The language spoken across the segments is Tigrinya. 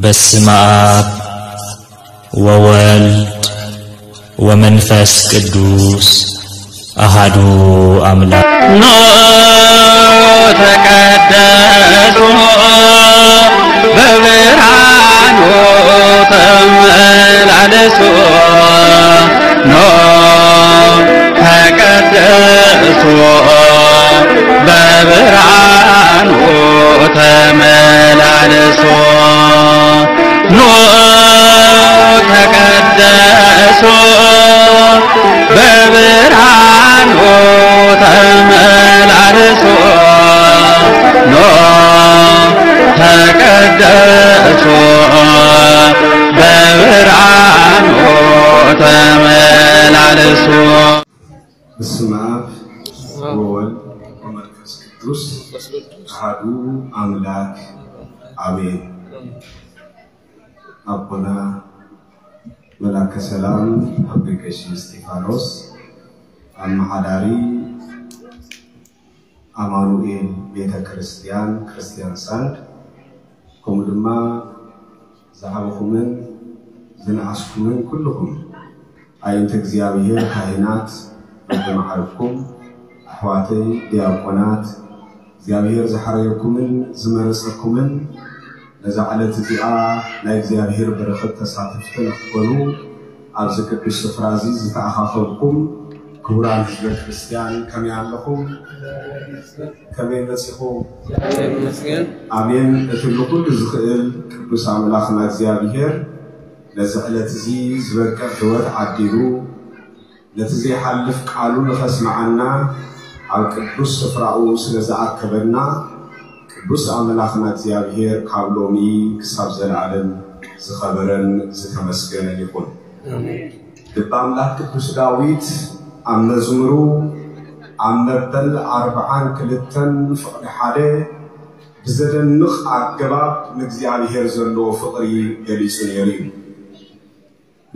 በስመ አብ ወወልድ ወመንፈስ ቅዱስ አሃዱ አምላክ። ኖ ተቀደሱ በብርሃኑ ተመላለሱ። ኖ ተቀደሱ በብርሃኑ ተመላለሱ። ኖ ተቀደሱ በብርሃኑ ተመላለሱ። ኖ ተቀደሱ በብርሃኑ ተመላለሱ። በስመ አብ ወወልድ ወመንፈስ ቅዱስ አሐዱ አምላክ አሜን። ኣቦና መላከ ሰላም ኣቦይ ቀሺ እስጢፋኖስ፣ ኣመሓዳሪ ኣማኑኤል ቤተ ክርስቲያን፣ ክርስቲያን ሳንድ፣ ከምኡ ድማ ዝዓበኹምን ዝነኣስኩምን ኩልኹም ኣዒንቲ እግዚኣብሔር፣ ካህናት በብመዓርግኩም፣ ኣሕዋተይ ዲያቆናት፣ እግዚኣብሔር ዝሓረየኩምን ዝመረጸኩምን ነዛ ዕለት እዚኣ ናይ እግዚኣብሔር በረኸት ተሳተፍቲ ንኽትኮኑ ኣብዚ ቅዱስ ስፍራ እዚ ዝተኣኻኸብኩም ክቡራን ህዝበ ክርስቲያን ከመይ ኣለኹም? ከመይ መጺኹም? ኣሜን። እቲ ንኹሉ ዝኽእል ቅዱስ ኣምላኽና እግዚኣብሔር ነዚ ዕለት እዚ ዝበቅዕ ህይወት ዓዲሉ ነቲ ዘይሓልፍ ቃሉ ንኸስምዓና ኣብ ቅዱስ ስፍራኡ ስለ ዝኣከበና ቅዱስ ኣምላኽና እግዚኣብሔር ካብ ሎሚ ክሳብ ዘለኣለም ዝኸበረን ዝተመስገነን ይኹን። ኣሜን። ልበ ኣምላኽ ቅዱስ ዳዊት ኣብ መዝሙሩ ኣብ መበል ኣርብዓን ክልተን ፍቕዲ ሓደ ብዘደንቕ ኣገባብ ንእግዚኣብሔር ዘለዎ ፍቕሪ ገሊጹ ነይሩ እዩ።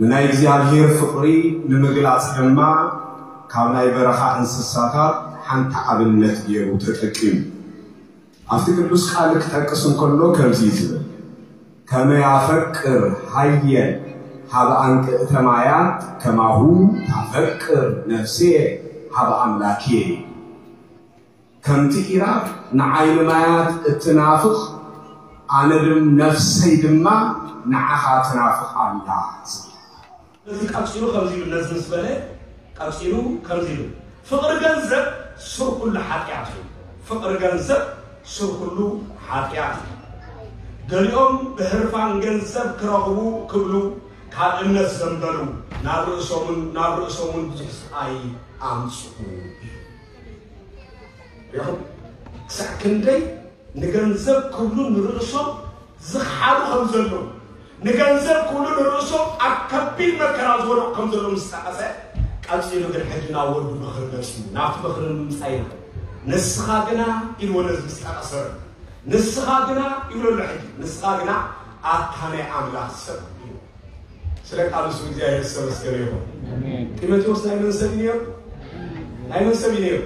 ንናይ እግዚኣብሔር ፍቕሪ ንምግላጽ ድማ ካብ ናይ በረኻ እንስሳታት ሓንቲ ኣብነት ገይሩ ተጠቂሙ። ኣብቲ ቅዱስ ቃል ክጠቅስ እንከሎ ከምዚ እዩ ዝብል፣ "ከመ ያፈቅር ሀየ ሀበ አንቅዕተ ማያት ከማሁ ታፈቅር ነፍስየ ሀበ አምላክየ" ይብል። ከምቲ ኢራብ ንዓይኒ ማያት እትናፍቕ፣ ኣነ ድም-፣ ነፍሰይ ድማ ንዓኻ ትናፍቕ ኣላ። እዚ ቀጺሉ ከምዚ ይብል፣ ነዚ ምስ በለ ቀጺሉ ከምዚ ይብል፣ "ፍቕሪ ገንዘብ ሱር ኩሉ ሓጢኣት እዩ። ፍቕሪ ገንዘብ ሱር ኩሉ ሓጢኣት እዩ። ገሊኦም ብህርፋን ገንዘብ ክረኽቡ ክብሉ ካብ እምነት ዘንበሉ፣ ናብ ርእሶምን፣ ናብ ርእሶምን ብዙሕ ስቓይ ኣምጽኡ" እዩ። ሪኹም? ክሳዕ ክንደይ ንገንዘብ ክብሉ ንርእሶም ዝኸሓዱ ከም ዘለዉ፣ ንገንዘብ ክብሉ ንርእሶም ኣብ ከቢድ መከራ ዝወደቑ ከም ዘለዉ ምስ ጠቐሰ፣ ቀጺሉ ግን ሕጂ ናብ ወዱ ምኽሪ መጺኡ፣ ናብቲ ምኽሪ ንምምጻእ ኢና። "ንስኻ ግና" ኢልዎ ነዚ ምስ ጠቐሰ፣ "ንስኻ ግና" ይብሎ ኣሎ ሕጂ፣ "ንስኻ ግና ኣታ ናይ ኣምላኽ ሰብ" ኢልዎ። ስለ ቃሉ ስም እግዚኣብሔር ዝተመስገነ ይኹን። ኣሜን። ጢሞቴዎስ ናይ መን ሰብ እዩ ነይሩ? ናይ መን ሰብ እዩ ነይሩ?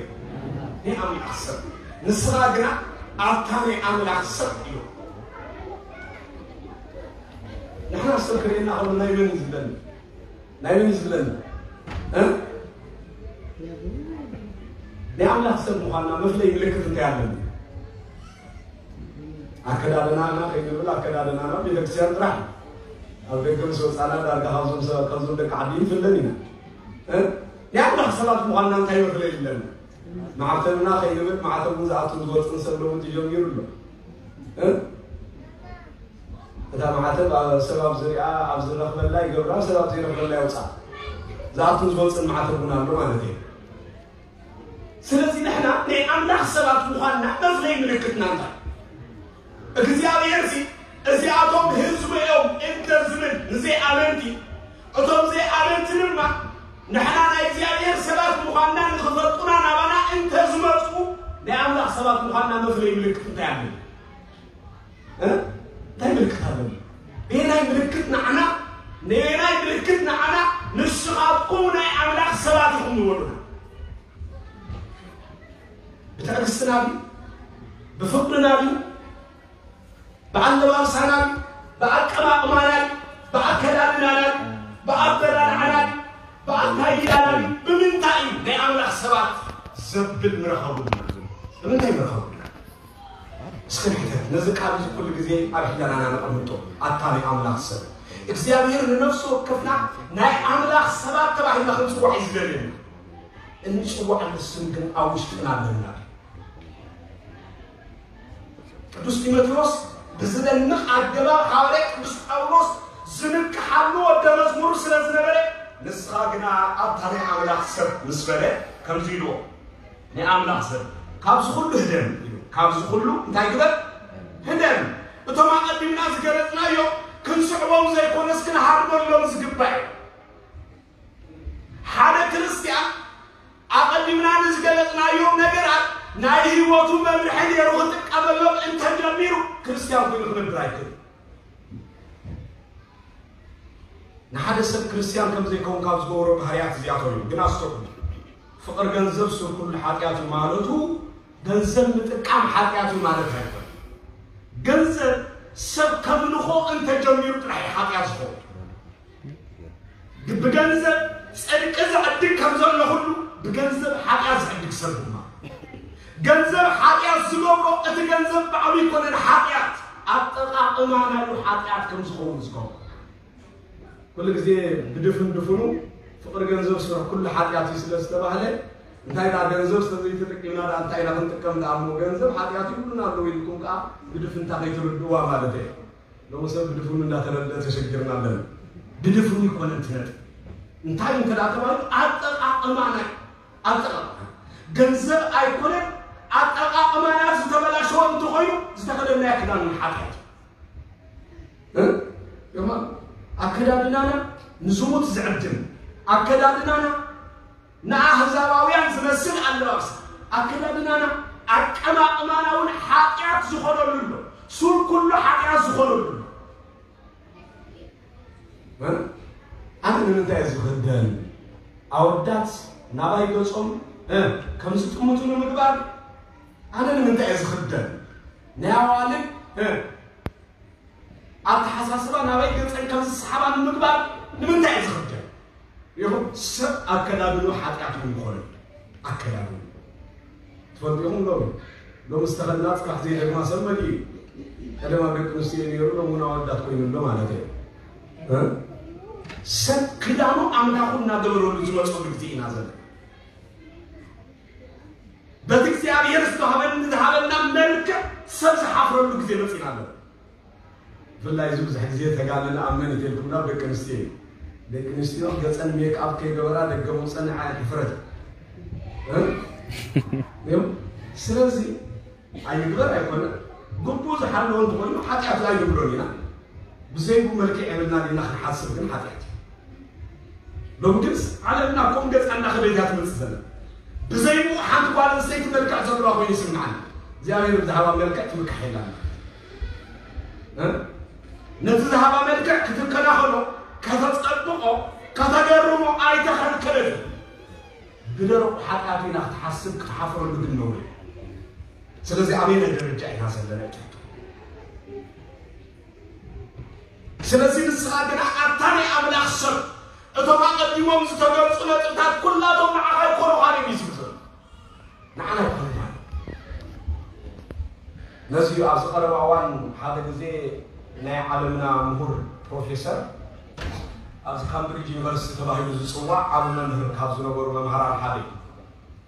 ናይ ኣምላኽ ሰብ። ንስኻ ግና ኣታ ናይ ኣምላኽ ሰብ እዩ። ንሕና ሰብ ክርእየና ከሎ ናይ መን እዩ ዝብለኒ? ናይ መን እዩ ዝብለኒ? እ? ናይ ኣምላኽ ሰብ ምዃንና መፍለይ ምልክት እንታይ ኣለኒ? ኣከዳድናና ከይንብል፣ ኣከዳድናና ቤተክርስትያን ጥራሕ እዩ። ኣብ ደገ ምስ ወጻና ዳርጋ ካብዞም ሰባት፣ ካብዞም ደቂ ዓዲ ንፍለን ኢና። እ? ናይ ኣምላኽ ሰባት ምዃንና እንታይ መፍለይ ኣለና? ማዕተብና ከይንብል፣ ማዕተብ እውን ዝኣቱን ዝወጽን ሰብ ሎሚ ተጀሚሩ ኣሎ። እ? እታ ማዕተብ ኣብ፣ ሰብ ኣብ ዝሪኣ፣ ኣብ ዝረኽበላ ይገብራ፣ ሰብ ኣብ ዘይረኽበላ የውፅኣ። ዝኣቱን ዝወፅን ማዕተብ እውን ኣሎ ማለት እዩ። ስለዚ ንሕና ናይ ኣምላኽ ሰባት ምዃንና መፍለይ ምልክትና እንታይ? እግዚኣብሔር ሲ እዚኣቶም ህዝቡ እዮም እንተ ዝብል ንዘይኣመንቲ፣ እቶም ዘይኣመንቲ ድማ ንሕና ናይ እግዚኣብሔር ሰባት ምዃንና ንኽፈልጡና ናባና እንተ ዝመጹ ናይ ኣምላኽ ሰባት ምዃንና መፍለይ ምልክት እንታይ ኣሎ? እ? እንታይ ምልክት ኣለና? በየናይ ምልክት ንዓና፣ ንበየናይ ምልክት ንዓና ንስኻትኩም ናይ ኣምላኽ ሰባት ኢኹም ንበሉና? ብትዕግስትና ድዩ? ብፍቕርና ድዩ? ብኣለባብሳና ድዩ? ብኣቀማቕማና፣ ብኣከዳድናና፣ ብኣበላልዓና፣ ብኣካይዳና፣ ብምንታይ እዩ ናይ ኣምላኽ ሰባት ዘብል ንረኸቡ? ብምንታይ ንረኸቡ? እስኪ ንሕተት፣ ነዚ ቃል እዚ ኩሉ ግዜ ኣብ ሕለናና ነቐምጦ። ኣታ ናይ ኣምላኽ ሰብ፣ እግዚኣብሔር ንነፍሲ ወከፍና ናይ ኣምላኽ ሰባት ተባሂልና ክንጽዋዕ እዩ ዝደልየና። እንጽዋዕሉ ስም ግን ኣብ ውሽጥና ኣለና። ቅዱስ ጢሞቴዎስ ብዝደንቕ ኣገባብ ሃዋርያ ቅዱስ ጳውሎስ ዝንቅሓሉ ወደ መዝሙሩ ስለ ዝነበረ፣ ንስኻ ግና ኣታ ናይ ኣምላኽ ሰብ ምስ በለ ከምዚ ኢልዎ፣ ናይ ኣምላኽ ሰብ ካብዚ ኩሉ ህደም ኢሉ። ካብዚ ኩሉ እንታይ ግበር? ህደም። እቶም ኣቐዲምና ዝገለጽናዮ ክንስዕቦም ዘይኮነስ ክንሃድመሎም ዝግባእ እዩ። ሓደ ክርስትያን ኣቐዲምና ንዝገለጽናዮም ነገራት ናይ ህይወቱ መምርሒ ገይሩ ክጥቀመሎም እንተጀሚሩ ክርስትያን ኮይኑ ክነብር ኣይክእልን። ንሓደ ሰብ ክርስትያን ከም ዘይከውን ካብ ዝገብሮ ባህርያት እዚኣቶም እዮም። ግን ኣስተውዕሉ፣ ፍቕሪ ገንዘብ ሱር ኩሉ ሓጢኣት እዩ ማለቱ ገንዘብ ምጥቃም ሓጢኣት እዩ ማለት ኣይኮነን። ገንዘብ ሰብ ከምልኾ እንተጀሚሩ ጥራሕ እዩ ሓጢኣት ዝኸውን። ብገንዘብ ጽድቂ ዝዕድግ ከም ዘሎ ሁሉ ብገንዘብ ሓጢኣት ዝዕድግ ሰብ ድማ። ገንዘብ ሓጢኣት ዝገብሮ እቲ ገንዘብ ባዕሉ ይኮነን ሓጢኣት፣ ኣጠቓቕማ ናይሉ ሓጢኣት ከም ዝኸውን ዝገብሮ። ኩሉ ግዜ ብድፍን ድፍኑ ፍቕሪ ገንዘብ ስራሕ ኩሉ ሓጢኣት እዩ ስለ ዝተባህለ፣ እንታይ ደኣ ገንዘብ ስለ ዘይተጠቂምና ደኣ እንታይ ኢና ክንጥቀም ደኣ እሞ ገንዘብ ሓጢኣት ይብሉና ኣለዉ ኢልኩም ከኣ ብድፍንታ ከይትርድእዋ ማለት እየ። ሎሚ ሰብ ብድፍኑ እንዳተረድአ ተሸጊርና ኣለና። ብድፍኑ ይኮነን እቲ ነጥብ። እንታይ እንተ ደኣ ተባሂሉ ኣጠቓቕማና እዩ። ኣጠቓቕማ ገንዘብ ኣይኮነን። ኣጠቓቕማና ዝተበላሸወ እንተኾይኑ ዝተኸደናዮ ክዳን እውን ሓጢኣት እዩ። እ? የማ ኣከዳድናና ንዝሙት ዝዕድም ኣከዳድናና ንኣህዛባውያን ዝመስል ኣለባብሳ ኣከዳድናና ኣቀማቕማና እውን ሓጢኣት ዝኾነሉ ኣሎ። ሱር ኩሉ ሓጢኣት ዝኾነሉ ኣሎ። እ? ኣነ ንምንታይ እየ ዝኽደን? ኣወዳት ናባይ ገጾም እ፣ ከም ዝጥምቱ ንምግባር ኣነ ንምንታይ እየ ዝኽደን? ናይ ኣዋልድ እ፣ ኣተሓሳስባ ናባይ ገጸን ከም ዝሰሓባ ንምግባር ንምንታይ እየ ዝኽደን? ይኹን ሰብ ኣከዳድንኡ ሓጢኣት እውን ይኾነሉ። ኣከዳድንኡ ትፈልጡ ኢኹም። ሎሚ ሎሚ ዝተኸድና ጽባሕ ዘይደግማ ሰብ መሊኡ እዩ። ቀደም ኣብ ደቂ ኣንስትዮ ነይሩ፣ ሎሚ እውን ኣወዳት ኮይኑ ኣሎ ማለት እዩ። እ? ሰብ ክዳኑ ኣምላኹ እናገበረሉ ዝመፀሉ ግዜ ኢና ዘለና። በቲ እግዚኣብሔር ዝተዋህበን ዝሃበና መልክዕ ሰብ ዝሓፍረሉ ግዜ መፂና ኣለና። ብፍላይ እዚ ብዙሕ ግዜ ተጋንና ኣብ መን ይተልኩም ናብ ደቂ ኣንስትዮ እዩ። ደቂ ኣንስትዮ ገፀን ሜክኣፕ ከይገበራ ደገ መውፀን ንዓይ ሕፍረት እ? እዮም። ስለዚ ኣይግበር ኣይኮነ ግቡእ ዝሓለወ እንተኮይኑ ሓጢኣት ኣይንብሎን ኢና። ብዘይቡ መልክዕ የብልና ዲና ክንሓስብ ግን ሓጢኣት እዩ። ሎሚ ግን ዓለምና ከም ገፃ እንዳኸደት እያ ትመፅእ ዘላ። ብዘይቡ ሓንቲ ጓል ኣንስተይቲ መልክዕ ዘለዋ ኮይኑ ይስምዓኒ። እግዚኣብሔር ብዝሃባ መልክዕ ትምካሕ የላን። እ? ነቲ ዝሃባ መልክዕ ክትከናኸኖ፣ ከተፀብቆ፣ ከተገርሞ ኣይተኸልከለትን። ብደረቁ ሓጢኣት ኢና ክትሓስብ ክትሓፍረሉ ግን ነውሪ። ስለዚ ኣበየናይ ደረጃ ኢና ዘለና ይትሕቱ። ስለዚ ንስኻ ግና ኣታ ናይ ኣምላኽ ሰብ እቶም ኣቐዲሞም ዝተገልጹ ነጥብታት ኩላቶም ንዓኻ ኣይኮኑኻን እዮም እዩ ዝብል ዘሎ። ንዓና ኣይኮኑና። ነዚ እዩ ኣብዚ ቀረባ እዋን ሓደ ግዜ ናይ ዓለምና ምሁር ፕሮፌሰር ኣብዚ ካምብሪጅ ዩኒቨርሲቲ ተባሂሉ ዝጽዋዕ ዓቢ መምህር ካብ ዝነበሩ መምሃራን ሓደ እዩ።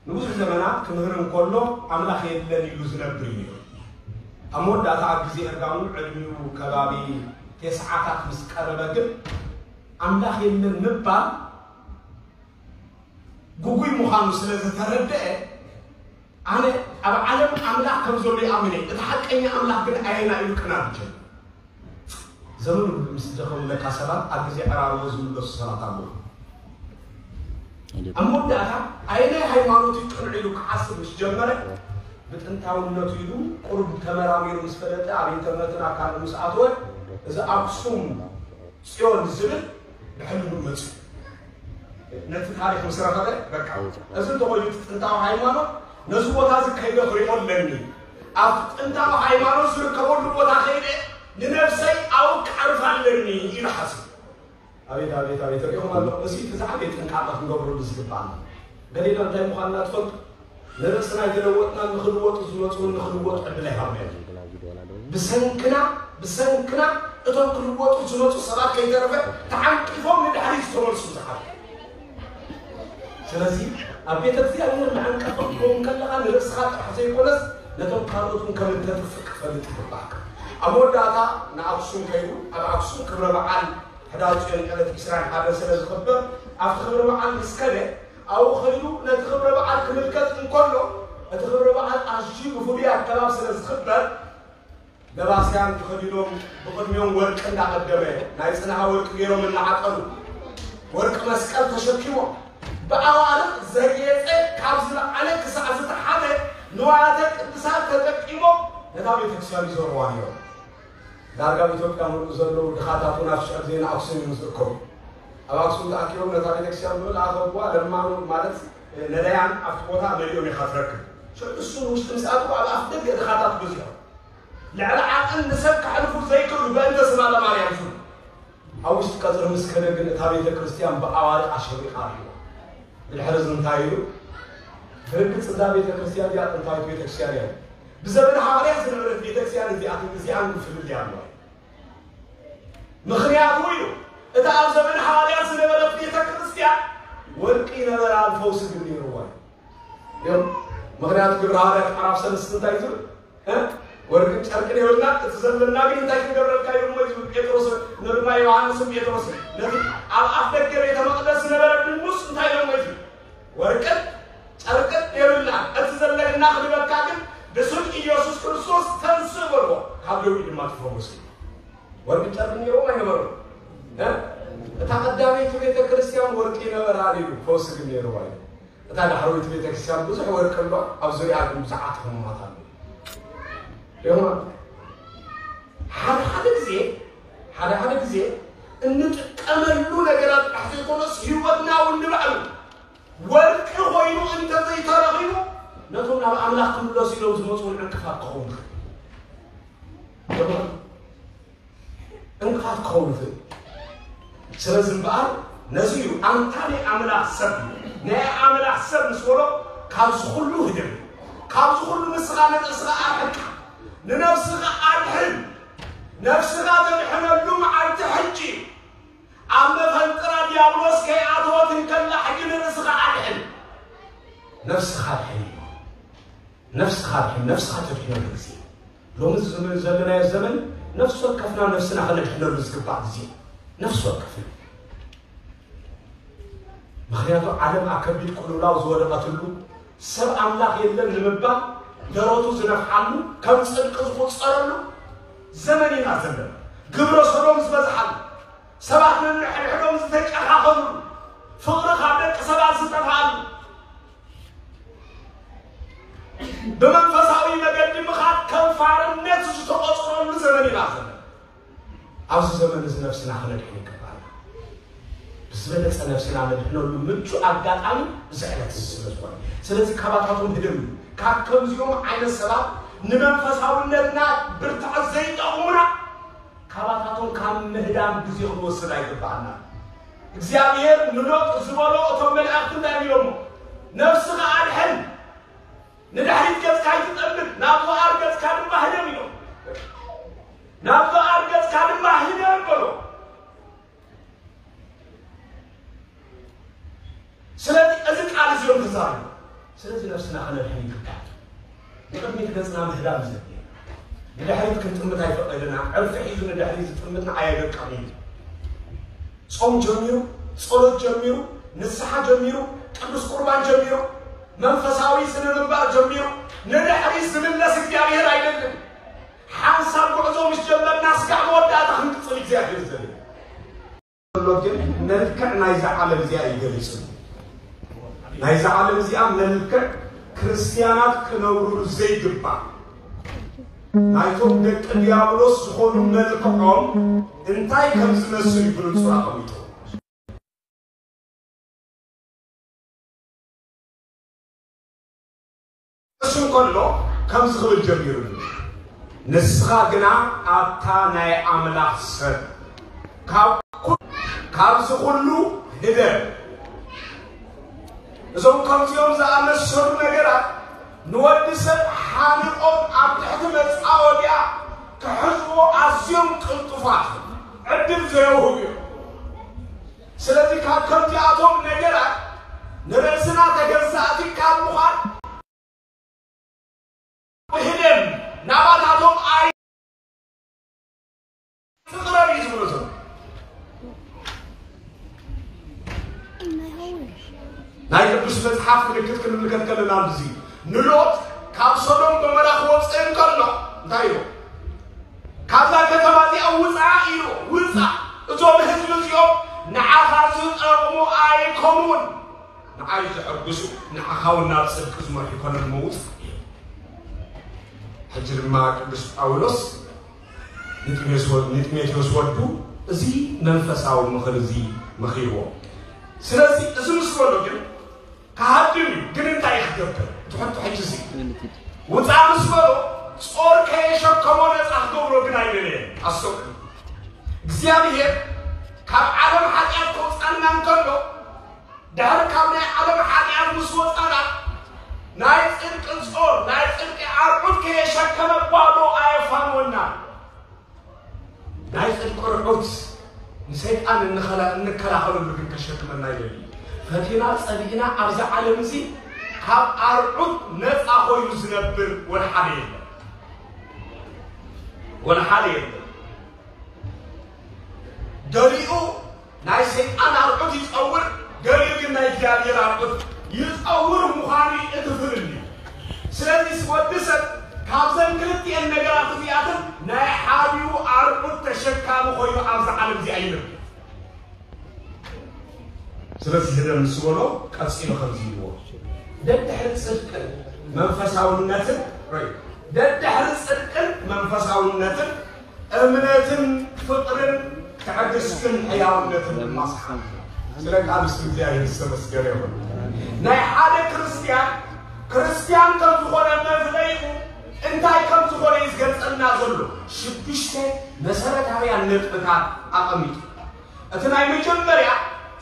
ንብዙሕ ዘመናት ክምህር እንከሎ ኣምላኽ የለን ኢሉ ዝነብር እዩ ነይሩ። ኣብ መወዳእታ ኣብ ግዜ እርጋኑ ዕድሚኡ ከባቢ ቴስዓታት ምስ ቀረበ ግን ኣምላኽ የለን ምባል ግጉይ ምዃኑ ስለ ዝተረድአ ኣነ ኣብ ዓለም ኣምላኽ ከም ዘሎ ይኣምን እየ፣ እቲ ሓቀኛ ኣምላኽ ግን ኣየና ኢሉ ክናብ ጀመረ። ዘመኑ ምስ ደኸሙለካ ሰባት ኣብ ግዜ ዕራርቦ ዝምለሱ ሰባት ኣለዉ። ኣብ መወዳእታ ኣየናይ ሃይማኖት እዩ ቅኑዕ ኢሉ ክሓስብ ምስ ጀመረ ብጥንታውነቱ ኢሉ ቁሩብ ተመራሚሩ ምስ ፈለጠ ኣብ ኢንተርነትን ኣካልን ምስ ኣትወ እዚ ኣክሱም ጽዮን ዝብል ብሕልሙ መጽኡ። ነቲ ታሪኽ ምስ ረኸበ በቃ እዚ እንተኾይኑ እቲ ጥንታዊ ሃይማኖት ነዚ ቦታ እዚ ከይደ ክሪኦ ኣለኒ። ኣብቲ ጥንታዊ ሃይማኖት ዝርከበሉ ቦታ ከይደ ንነብሰይ ኣውቅዓ ኢሉ ሓሲቡ። ኣቤት ኣቤት ኣቤት፣ ሪኢኹም ኣለኹም። እዚ እቲ ዝዓበየ ጥንቃቐ ክንገብረሉ ዝግባኣና። ገሌና እንታይ ምዃንና ትፈልጡ? ንርእስና ኣይተለወጥናን፣ ንኽልወጡ ዝመፁ እውን ንኽልወጡ ዕድል ኣይሃብናዮም። ብሰንክና ብሰንክና እቶም ክልወጡ ዝመፁ ሰባት ከይተረፈ ተዓንቂፎም ንድሕሪት ዝተመልሱ ብዙሓት። ስለዚ ኣብ ቤተ እግዚኣብሔር መዐንቀፊ ክትከውን ከለኻ ንርእስኻ ጥራሕ ዘይኮነስ ነቶም ካልኦት እውን ከም እተጥፍእ ክትፈልጥ ይግባእካ። ኣብ መወዳእታ ንኣክሱም ከይዱ ኣብ ኣክሱም ክብረ በዓል ሕዳር ጽዮን ዕለት ዕስራን ሓደን ስለ ዝኽበር ኣብቲ ክብረ በዓል ምስ ከደ ኣብኡ ከይዱ ነቲ ክብረ በዓል ክምልከት እንከሎ እቲ ክብረ በዓል ኣዝዩ ብፍሉይ ኣገባብ ስለ ዝኽበር ለባስያን ተኸዲኖም ብቕድሚኦም ወርቂ እንዳቐደመ ናይ ጽንሃ ወርቂ ገይሮም እናዓጠኑ ወርቂ መስቀል ተሸኪሞም ብኣዋርቕ ዘግየጸ ካብ ዝለዓለ ክሳዕ ዝተሓተ ንዋያተ ቅድሳት ተጠቂሞም ነታ ቤተክርስትያን ይዞርዋ ነይሮም። ዳርጋ ኣብ ኢትዮጵያ ምሉእ ዘለዉ ድኻታት እውን ኣብ ሽዕብ ዜና ኣክሱም እዮም ዝእከቡ። ኣብ ኣክሱም ተኣኪቦም ነታ ቤተክርስትያን ብምልኣ ከብዋ ለማኑ ማለት ነዳያን ኣብቲ ቦታ መሊኦም ኢኻ ትረክብ። ሽዑ እሱ ንውሽጢ ምስ ኣትዉ ኣብ ኣፍ ደገ ድኻታት በዚሖም። ልዕሊ ዓቐን ንሰብ ከሕልፉ ዘይክእሉ በእንተ ስማ ለማርያም ዝብሉ። ኣብ ውሽጢ ቀጽሪ ምስ ከደ ግን እታ ቤተ ክርስቲያን ብኣዋርቕ ኣሸብሪቓ ረኺባ። ብድሕሪ እዚ እንታይ ኢሉ? ብርግጽ እዛ ቤተ ክርስቲያን እዚኣ ጥንታዊት ቤተ ክርስቲያን እያ። ብዘበነ ሃዋርያት ዝነበረት ቤተ ክርስቲያን እዚኣትን እዚኣን ግን ፍልልይ ኣለዋ። ምኽንያቱ ኢሉ፣ እታ ኣብ ዘበነ ሃዋርያት ዝነበረት ቤተ ክርስቲያን ወርቂ ነበራ፣ ፈውሲ ግን ነይርዋ እዩ። እዮም። ምኽንያቱ ግብረ ሃዋርያት ምዕራፍ ሰለስተ እንታይ ዝብል? እ? ወርቅን ጨርቅን የብልና፣ እቲ ዘለና ግን እንታይ ክንገብረልካ እዮም ወይ ዝብል ጴጥሮስ፣ ንርማ ዮሃንስን ጴጥሮስን። ነቲ ኣብ ኣፍ ደገ ቤተ መቕደስ ዝነበረ ድንጉስ እንታይ እዮም ወይ ዝብል? ወርቅን ጨርቅን የብልና፣ እቲ ዘለና ክንበካ ግን ብስም ኢየሱስ ክርስቶስ ተንስእ በልዎ፣ ካብ ደዌ ድማ ትፈወስ እዩ። ወርቅን ጨርቅን ነይሮም ኣይነበሩን? እ? እታ ቀዳመይቲ ቤተ ክርስቲያን ወርቂ ነበራ ኢሉ፣ ፈውሲ ግን ነይርዋ እዩ። እታ ዳሕረወይቲ ቤተ ክርስቲያን ብዙሕ ወርቂ ኣሎ፣ ኣብ ዙርያ ግን ብዙሓት ሕሙማት ኣለዉ። ሪኢኹም? ሓደ ሓደ ግዜ፣ ሓደ ሓደ ግዜ እንጥቀመሉ ነገራት ጥራሕ ዘይኮነስ፣ ህይወትና እውን ንባዕሉ ወርቂ ኮይኑ እንተዘይተረኺቡ፣ ነቶም ናብ ኣምላኽ ክምለሱ ኢሎም ዝመፁ እውን ዕንቅፋት ክኸውን ይኽእል። ሪኢኹም? ዕንቅፋት ክኸውን ይኽእል። ስለዚ እምበኣር ነዚ እዩ ኣንታ ናይ ኣምላኽ ሰብ እዩ። ናይ ኣምላኽ ሰብ ምስ በሎ ካብዚ ኩሉ ህደም፣ ካብዚ ኩሉ ንስኻ ንርእስኻ ኣርሕቅ፣ ንነፍስኻ ኣድሕን። ነፍስኻ ተድሕነሉ መዓልቲ ሕጂ እዩ። ኣብ መፈንጥራ ዲያብሎስ ከይኣተወት እንከላ ሕጂ ንርእስኻ ኣድሕን። ነፍስኻ ኣድሕን እዩ። ነፍስኻ ድሕን፣ ነፍስኻ ተድሕነሉ ግዜ። ሎሚ ዘመን ዘለናዮ ዘመን ነፍሲ ወከፍና ነፍስና ከነድሕነሉ ዝግባእ ግዜ እዩ። ነፍሲ ወከፍና። ምኽንያቱ ዓለም ኣብ ከቢድ ቅልውላው ዝወደቐትሉ፣ ሰብ ኣምላኽ የለን ንምባል ደረቱ ዝነፍሓሉ፣ ከም ጽድቂ ዝቑጸረሉ ዘመን ኢና ዘለና። ግብረ ሰዶም ዝበዝሓሉ፣ ሰባት ነንሕድሕዶም ዝተጨኻኸሉ፣ ፍቕሪ ካብ ደቂ ሰባት ዝጠፍኣሉ፣ ብመንፈሳዊ መገዲ ምኻድ ከም ፋርነት ዝተቖጽረሉ ዘመን ኢና ዘለና። ኣብዚ ዘመን እዚ ነፍስና ክነድሕን ይግባና። ብዝበለጸ ነፍስና ነድሕነሉ ምቹእ ኣጋጣሚ እዚ ዕለት እዚ ስለ ዝኾነ። ስለዚ ካባታቶም ህደም እዩ። ካብ ከምዚኦም ዓይነት ሰባት ንመንፈሳውነትና ብርትዐት ዘይጠቕሙና ካባታቶም ካብ ምህዳም ግዜ ክንወስድ ኣይግባኣና። እግዚኣብሔር ንሎጥ ዝበሎ እቶም መላእኽቲ እንታይ ኢሎሞ? ነፍስኻ ኣድሕን፣ ንድሕሪት ገጽካ ኣይትጠምት፣ ናብ ዞኣር ገጽካ ድማ ህደም ኢሎም። ናብ ዞኣር ገጽካ ድማ ህደም በሎ። ስለዚ እዚ ቃል እዚ እዮም ተዛሪቦም። ስለዚ ነፍስና ከነድሕን ይግባእ። ንቕድሚት ገጽና ምህዳም እዩ ዘድልየና። ንድሕሪት ክንጥምት ኣይፈቐደና። ዕርፊ ሒዙ ንድሕሪት ዝጥምትና ኣየደቀቕን እዩ። ጾም ጀሚሩ፣ ጸሎት ጀሚሩ፣ ንስሓ ጀሚሩ፣ ቅዱስ ቁርባን ጀሚሩ፣ መንፈሳዊ ስነ ምግባር ጀሚሩ፣ ንድሕሪት ዝምለስ እግዚኣብሔር ኣይደልን። ሓንሳብ ጉዕዞ ምስ ጀመርና ስጋዕ መወዳእታ ክንቅጽል እግዚኣብሔር ዝደሊ። ዘሎ ግን መልክዕ ናይዛ ዓለም እዚኣ እዩ ገሊጹ። ናይዛ ዓለም እዚኣ መልክዕ ክርስትያናት ክነብሩሉ ዘይግባእ፣ ናይቶም ደቂ ዲያብሎስ ዝኾኑ መልክዖም እንታይ ከም ዝመስል እዩ ብንጹር ኣቐሚጡ። እሱ እንከሎ ከምዚ ክብል ጀሚሩኒ፣ ንስኻ ግና ኣብታ ናይ ኣምላኽ ሰብ ካብ ኩ- ካብዚ ኩሉ ህደር። እዞም ከምዚኦም ዝኣመሰሉ ነገራት ንወዲ ሰብ ሓኒቖም ኣብ ትሕቲ መጻወድያ ክሕዝዎ ኣዝዮም ቅልጡፋት፣ ዕድል ዘየውህቡ እዮም። ስለዚ ካብ ከምዚኣቶም ነገራት ንርእስና ተገዛእቲ ካብ ምዃን፣ ብህደም ናባታቶም ኣይ ትቕረብ እዩ ዝብሎ ዘሎ። ናይ ቅዱስ መጽሓፍ ምልክት ክንምልከት ከለና ኣብዚ ንሎጥ ካብ ሶዶም ጎመራ ክወፅእ እንከሎ እንታይ ኢሉ? ካብዛ ከተማ እዚኣ ውፃ ኢሉ፣ ውፃ፣ እዞም ህዝቢ እዚኦም ንዓኻ ዝጠቕሙ ኣይኮኑን። ንዓይ ዘሐጉሱ፣ ንዓኻ እውን ናብ ጽድቂ ዝመርሑ ይኮነን ምውጽእ። ሕጂ ድማ ቅዱስ ጳውሎስ ንጢሞቴዎስ ወ- ንጢሞቴዎስ ወዱ እዚ መንፈሳዊ ምኽሪ እዚ መኺርዎ። ስለዚ እዚ ምስ በሎ ግን ክሃድም እዩ። ግን እንታይ እዩ ክገብር? እቲ ሕቶ ሕጂ እዚ ውፃእ ምስ በሎ ጾር ከየሸከሞ ነፃ ክገብሮ ግን ኣይደለየን። ኣስተውዕሉ። እግዚኣብሔር ካብ ዓለም ሓጢኣት ከውፃና እንከሎ ድሕሪ ካብ ናይ ዓለም ሓጢኣት ምስ ወፃና ናይ ፅድቂ ጾር ናይ ፅድቂ ኣርዑት ከየሸከመ ባዶ ኣየፋንወና። ናይ ጽድቂ ርዑት ንሰይጣን እንኸላ- እንከላኸለሉ ግን ከሸክመና ይደሊ። ፈቲና ጸሊእና ኣብዚ ዓለም እዚ ካብ ኣርዑት ነጻ ኮይኑ ዝነብር ወላ ሓደ የለን። ወላ ሓደ የለን። ገሊኡ ናይ ሰይጣን ኣርዑት ይጸውር፣ ገሊኡ ግን ናይ እግዚኣብሔር ኣርዑት ይጸውር ምዃኑ እዩ እቲ ፍልልዩ። ስለዚ ወዲ ሰብ ካብዘን ክልቲኤን ነገራት እዚኣተን ናይ ሓዲኡ ኣርዑት ተሸካሚ ኮይኑ ኣብዚ ዓለም እዚኣ ይነብር። ስለዚ ህደም ምስ በሎ ቀጺሉ ከምዚ ኢልዎ፣ ደድሕሪ ጽድቅን መንፈሳውነትን ሮይ ደድሕሪ ጽድቅን መንፈሳውነትን እምነትን ፍቕርን ትዕግስትን ሕያውነትን ድማ ሰሓብ። ስለ ቃል ስም እግዚኣብሔር ዝተመስገነ ይኹን። ናይ ሓደ ክርስትያን ክርስትያን ከም ዝኾነ መፍለይኡ እንታይ ከም ዝኾነ እዩ ዝገልጸልና ዘሎ። ሽዱሽተ መሰረታውያን ነጥብታት ኣቐሚጡ። እቲ ናይ መጀመርያ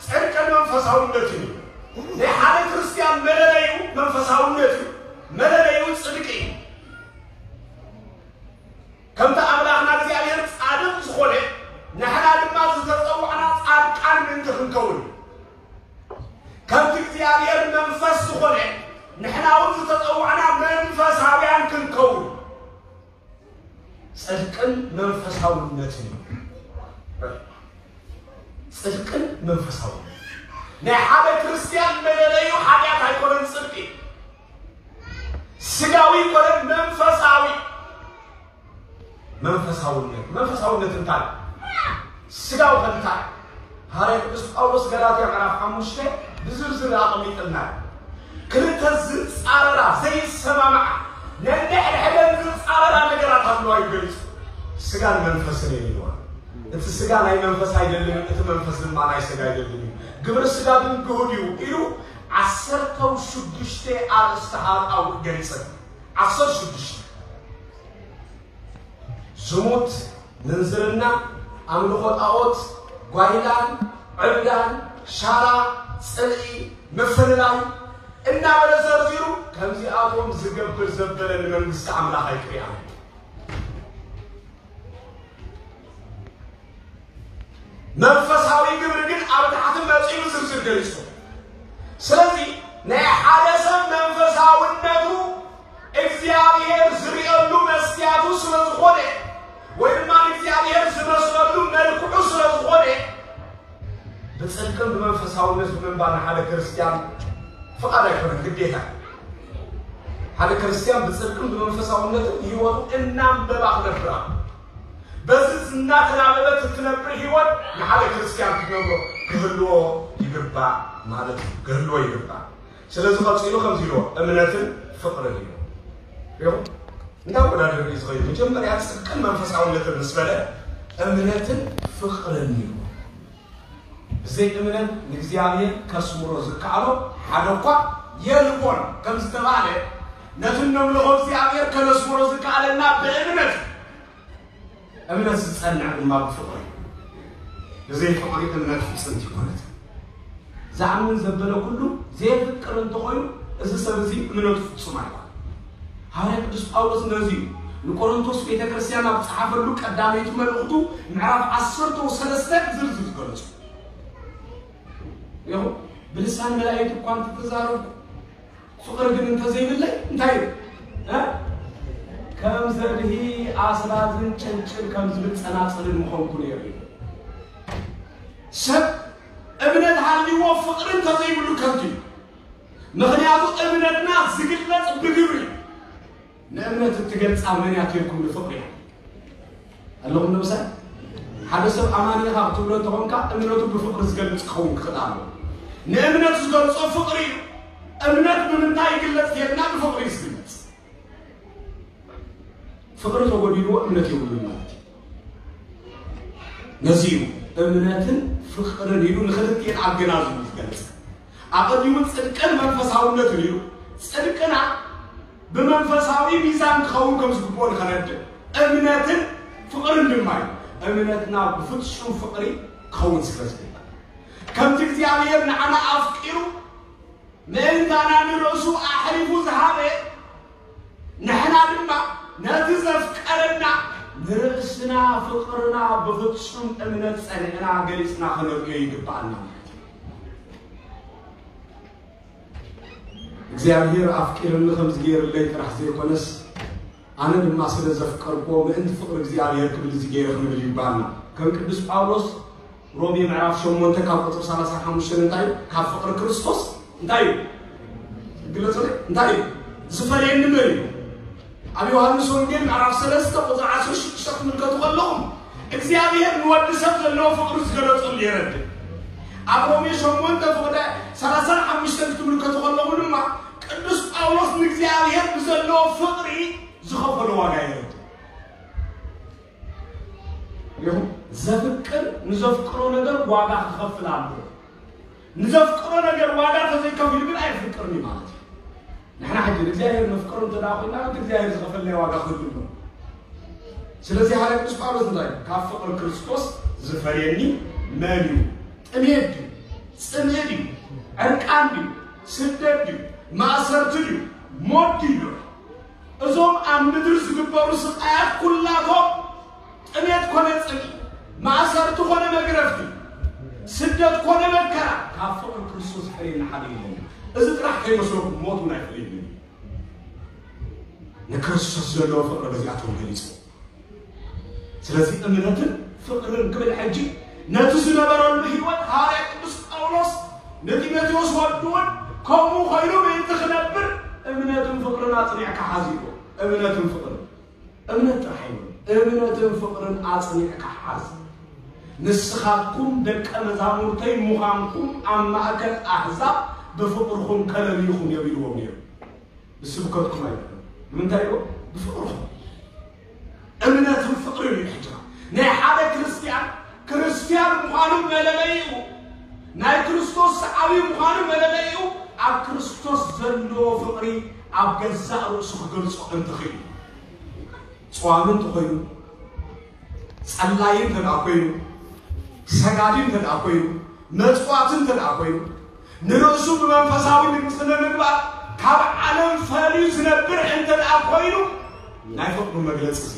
ጽድቅን መንፈሳውነትን እዩ። ናይ ሓደ ክርስትያን መለለዩ መንፈሳውነት እዩ። መለለዩ ጽድቂ እዩ። ከምቲ ኣምላኽና እግዚኣብሔር ጻድቕ ዝኾነ ንሕና ድማ ዝተጸዋዕና ጻድቃን ምእንቲ ክንከውን እዩ። ከምቲ እግዚኣብሔር መንፈስ ዝኾነ ንሕና እውን ዝተጸዋዕና መንፈሳውያን ክንከውን እዩ። ጽድቅን መንፈሳውነትን እዩ። ጽድቅን መንፈሳውነት ናይ ሓደ ክርስትያን መለለዩ ሓጢኣት ኣይኮነን። ጽድቂ ስጋዊ ይኮነን መንፈሳዊ። መንፈሳውነት መንፈሳውነት እንታይ ስጋው ከንታይ ሃረ ቅዱስ ጳውሎስ ገላትያ ምዕራፍ ሓሙሽተ ብዝርዝር ኣቐሚጥና። ክልተ ዝጻረራ ዘይሰማማዓ ነንሕድሕደን ዝጻረራ ነገራት ኣለዋ ይገልጹ። ስጋን መንፈስን እዮም ይለዋ። እቲ ስጋ ናይ መንፈስ ኣይደልን፣ እቲ መንፈስ ድማ ናይ ስጋ ኣይደልን እዩ። ግብሪ ስጋ ግን ግሁድ እዩ ኢሉ ዓሰርተው ሽዱሽተ ኣርእስቲ ሃጣው ገሊጸ። ዓሰርተ ሽዱሽተ ዝሙት፣ ምንዝርና፣ ኣምልኾ ጣዖት፣ ጓይላን፣ ዕብዳን፣ ሻራ፣ ጽልኢ፣ ምፍልላይ እናበለ ዘርዚሩ ከምዚኣቶም ዝገብር ዘበለ ንመንግስቲ ኣምላኽ ኣይክሪኣን። መንፈሳዊ ግብሪ ግን ኣብ ታሕቲ መጺኡ ዝርዝር ገሊጹ። ስለዚ ናይ ሓደ ሰብ መንፈሳውነቱ እግዚኣብሔር ዝርእየሉ መስትያቱ ስለ ዝኾነ ወይ ድማ እግዚኣብሔር ዝመስለሉ መልክዑ ስለ ዝኾነ ብጽድቅን ብመንፈሳውነት ብምንባር ንሓደ ክርስትያን ፍቓድ ኣይኮነን፣ ግዴታ። ሓደ ክርስትያን ብጽድቅን ብመንፈሳውነትን ህይወቱ እናንበባ ክነብራ በዚ እናተናበበት እትነብር ህይወት ንሓደ ክርስትያን ክትነብሮ ክህልዎ ይግባእ ማለት እዩ። ክህልዎ ይግባእ። ስለዚ ቀጺሉ ከምዚ ኢልዎ እምነትን ፍቕርን እዩ። ይኹን እንዳወዳደር እዩ ዝኸይድ። መጀመርያ ጽድቅን መንፈሳውነትን ምስ በለ እምነትን ፍቕርን እዩ። ብዘይ እምነት ንእግዚኣብሔር ከስምሮ ዝከኣሎ ሓደ እኳ የልቦን ከም ዝተባህለ ነቲ እነምልኾ እግዚኣብሔር ከነስምሮ ዝከኣለና ብእምነት እዩ። እምነት ዝጸንዕ ድማ ብፍቕሪ እዩ። ብዘይ ፍቕሪ እምነት ፍጽምቲ ይኮነት። ዝኣምን ዘበለ ኩሉ ዘይፍቅር እንተኾይኑ፣ እዚ ሰብ እዚ እምነቱ ፍጹም ኣይኮን። ሃዋርያ ቅዱስ ጳውሎስ ነዚ እዩ ንቆሮንቶስ ቤተ ክርስቲያን ኣብ ጸሓፈሉ ቀዳመይቲ መልእኽቱ ምዕራፍ ዓሰርተ ሰለስተ ዝርዝር ዝገለጹ። ይኹ ብልሳን መላእክት እኳ እንተተዛረብኩ፣ ፍቕሪ ግን እንተዘይብለይ እንታይ እዩ? እ? ከም ዘድሂ ኣስራዝን ጨንጭል ከም ዝብል ጸናጽልን ምኾንኩ ነይሩ እዩ። ሰብ እምነት ሃልይዎ ፍቕሪ እንተዘይብሉ ከንቱ እዩ። ምኽንያቱ እምነትና ዝግለጽ ብግብሪ እዩ። ንእምነት እትገልጻ መን እያ ትብልኩም? ንፍቕሪ እያ። ኣለኹም ንምሳይ ሓደ ሰብ ኣማኒ ኢኻ ክትብሎ እንተኾንካ እምነቱ ብፍቕሪ ዝገልጽ ክኸውን ክኽእል ኣሎ። ንእምነት ዝገልጾ ፍቕሪ እዩ። እምነት ብምንታይ ይግለጽ? ጌርና ብፍቕሪ እዩ ዝግለጽ። ፍቕሪ ተጎዲልዎ እምነት የብሉን ማለት እዩ። ነዚ እዩ እምነትን ፍቕርን ኢሉ ንኽልቲኤን ኣገናዚቡ ዝገልጽ። ኣቐዲሙ ጽድቅን መንፈሳውነትን ኢሉ ጽድቅና ብመንፈሳዊ ሚዛን ክኸውን ከም ዝግብኦ ንኸረድእ እምነትን ፍቕርን ድማ እዩ። እምነትና ብፍጹም ፍቕሪ ክኸውን ስለ ዝግባእ ከምቲ እግዚኣብሔር ንዓና ኣፍቂሩ ምእንታና ንርእሱ ኣሕሊፉ ዝሃበ ንሕና ድማ ነቲ ዘፍቀረና ንርእስና ፍቕርና ብፍጹም እምነት ጸኒዕና ገሊጽና ከነርእዮ ይግብኣና ማለት እዩ። እግዚኣብሔር ኣፍቂርኒ ከም ዝገይርለይ ጥራሕ ዘይኮነስ ኣነ ድማ ስለ ዘፍቀርክዎ ምእንቲ ፍቕሪ እግዚኣብሔር ክብል እዚ ገይረ ክንብል ይግባኣና። ከም ቅዱስ ጳውሎስ ሮሜ ምዕራፍ ሸሞንተ ካብ ቁፅሪ ሰላሳ ሓሙሽተ እንታይ እዩ? ካብ ፍቕሪ ክርስቶስ እንታይ እዩ? ግለፁ እንታይ እዩ? ዝፈለየኒ መን እዩ? ኣብ ዮሃንስ ወንጌል ምዕራፍ ሰለስተ ቁፅሪ ዓሰርተ ሽዱሽተ ክትምልከቱ ከለኹም እግዚኣብሔር ንወዲ ሰብ ዘለዎ ፍቕሪ ዝገለፀሉ የረድእ። ኣብ ሮሜ ሸሞንተ ፍቕደ ሰላሳን ሓሙሽተን ክትምልከቱ ከለኹም ድማ ቅዱስ ጳውሎስ ንእግዚኣብሔር ብዘለዎ ፍቕሪ ዝኸፈሎ ዋጋ የረድእ። ይኹን ዘፍቅር ንዘፍቅሮ ነገር ዋጋ ክኸፍል ኣለዎ። ንዘፍቅሮ ነገር ዋጋ ተዘይከፊሉ ግን ኣይፍቅርን እዩ ማለት እዩ። ንሕና ሕጂ ንእግዚኣብሔር ነፍቅሮ እንተ ደኣ ኮይና እቲ እግዚኣብሔር ዝኸፈልናዮ ዋጋ ክህሉ ኣለዎ። ስለዚ ሓደ ቅዱስ ጳውሎስ እንታይ ካብ ፍቕሪ ክርስቶስ ዝፈልየኒ መን እዩ? ጥሜት ድዩ? ጽምእ ድዩ? ዕርቃን ድዩ? ስደት ድዩ? ማእሰርቲ ድዩ? ሞት ድዩ? እዞም ኣብ ምድሪ ዝግበሩ ስቃያት ኩላቶም ጥሜት ኮነ ጽምኢ፣ ማእሰርቲ ኮነ መግረፍቲ፣ ስደት ኮነ መከራ ካብ ፍቕሪ ክርስቶስ ዝፈልየና ሓደ የለን። እዚ ጥራሕ ከይመስለኩም ሞት እውን ኣይፈልየንን እዩ። ንክርስቶስ ዘለዎ ፍቕሪ በዚኣቶም ገሊጹ። ስለዚ እምነትን ፍቕርን ክብል ሕጂ ነቲ ዝነበረሉ ህይወት ሃዋርያ ቅዱስ ጳውሎስ ንጢሞቴዎስ ወዱ እውን ከምኡ ኮይኑ ምእንቲ ክነብር እምነትን ፍቕርን ኣጽኒዕካ ሓዝ ኢልዎ። እምነትን ፍቕርን እምነት ጥራሕ ኣይኮነን፣ እምነትን ፍቕርን ኣጽኒዕካ ሓዝ። ንስኻትኩም ደቀ መዛሙርተይ ምዃንኩም ኣብ ማእከል ኣህዛብ ብፍቕርኹም ከለልይኹም እዮም ኢልዎም ነይሩ። ብስብከትኩም ኣይኮነን። ብምንታይ ኢልዎም? ብፍቕርኹም። እምነትን ፍቕርን እዩ ሕጂ። ናይ ሓደ ክርስትያን ክርስትያን ምዃኑ መለለይኡ፣ ናይ ክርስቶስ ሰዓቢ ምዃኑ መለለይኡ ኣብ ክርስቶስ ዘለዎ ፍቕሪ ኣብ ገዛእ ርእሱ ክገልጾ እንተኽእል እዩ። ጸዋሚ እንተኾይኑ፣ ጸላዪ እንተ ደኣ ኮይኑ፣ ሰጋዲ እንተ ደኣ ኮይኑ፣ መጽዋቲ እንተ ደኣ ኮይኑ፣ ንርእሱ ብመንፈሳዊ ንግስቲ ንምግባር ካብ ዓለም ፈልዩ ዝነብር እንተ ደኣ ኮይኑ፣ ናይ ፍቕሩ መግለጺ እዚ።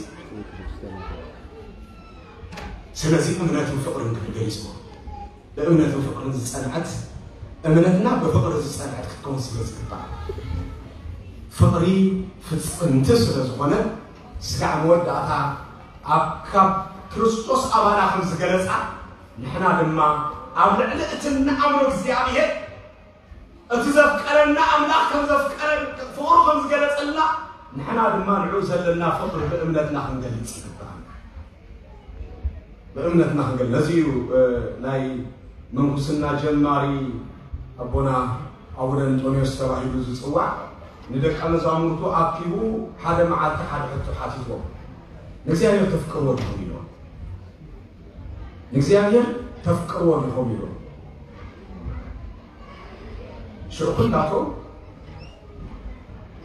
ስለዚ እምነትን ፍቕርን ክብል ገሊጽዎ። ብእምነትን ፍቕርን ዝጸንዐት፣ እምነትና ብፍቕሪ ዝጸንዐት ክትከውን ስለ ዝግባእ፣ ፍቕሪ ፍጽምቲ ስለ ዝኾነ፣ ስጋዕ መወዳእታ ኣብ ካብ ክርስቶስ ኣባና ከም ዝገለጻ፣ ንሕና ድማ ኣብ ልዕሊ እቲ እንኣምኖ እግዚኣብሔር፣ እቲ ዘፍቀረና ኣምላኽ ከም ዘፍቀረ፣ ፍቕሩ ከም ዝገለጸልና፣ ንሕና ድማ ንዕኡ ዘለና ፍቕሪ ብእምነትና ክንገልጽ ይግባእ። ብእምነትና ክንገል-፣ ነዚ እዩ፣ እ፣ ናይ ምንኩስና ጀማሪ ኣቦና ኣቡነ እንጦንዮስ ተባሂሉ ዝጽዋዕ። ንደቀ መዛሙርቱ ኣኪቡ ሓደ መዓልቲ ሓደ ሕቶ ሓቲትዎም። ንእግዚኣብሔር ተፍቅርዎ ዲኹም ኢልዎም። ንእግዚኣብሔር ተፍቅርዎ ዲኹም ኢልዎም። ሽዑ ኩላቶም፣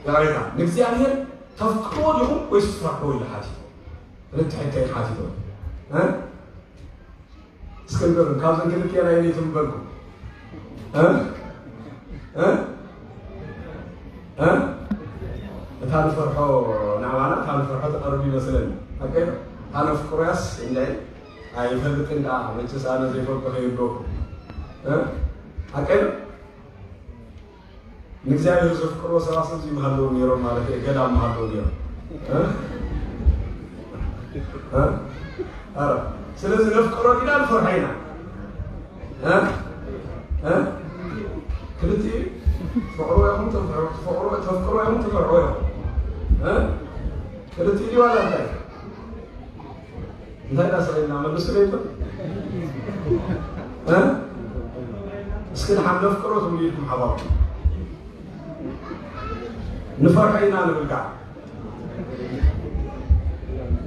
ይቕሬታ፣ ንእግዚኣብሔር ተፍቅርዎ ዲኹም ወይስ ትፈርሕዎ ኢሉ ሓቲትዎም። ክልተ ሕቶ እዩ ሓቲትዎም። እ? እስከ ስንገሩን ካብዘን ክልቲኤን ኣየነይቱ ምበልኩ? እ? እ? እ? እታ ንፈርሖ ንኣባና እታ ንፈርሖ ትቐርብ ይመስለኒ። ኣቀ እታ ነፍቅሮያስ እንደ ኣይፈልጥን ደኣ መቸስ ኣነ ዘይፈልጦ ከይብለኩ። እ? ኣቀ ንእግዚኣብሔር ዘፍቅርዎ ሰባት እዚ ምሃለዉ ነይሮም ማለት እዩ። ገዳም ምሃለዉ ነይሮም። እ? እ? ኣረ፣ ስለዚ ነፍቅሮ ዲና ንፈርሖ ኢና። እ? እ? ክልቲኡ ፍቕሮ ኢኹም ተፍቅሮ፣ ፍቕሮ፣ ተፍቅሮ ኢኹም ትፈርሖ ኢኹም። እ? ክልቲኡ ድዩ ዋላ እንታይ? እንታይ ዳስቕ ኢልና መልሱ ለይብሉ? እ? እስኪ ንሓን ነፍቅሮ ትብሉ ኢልኩም ሓባብ። ንፈርሖ ኢና ንብል ከዓ።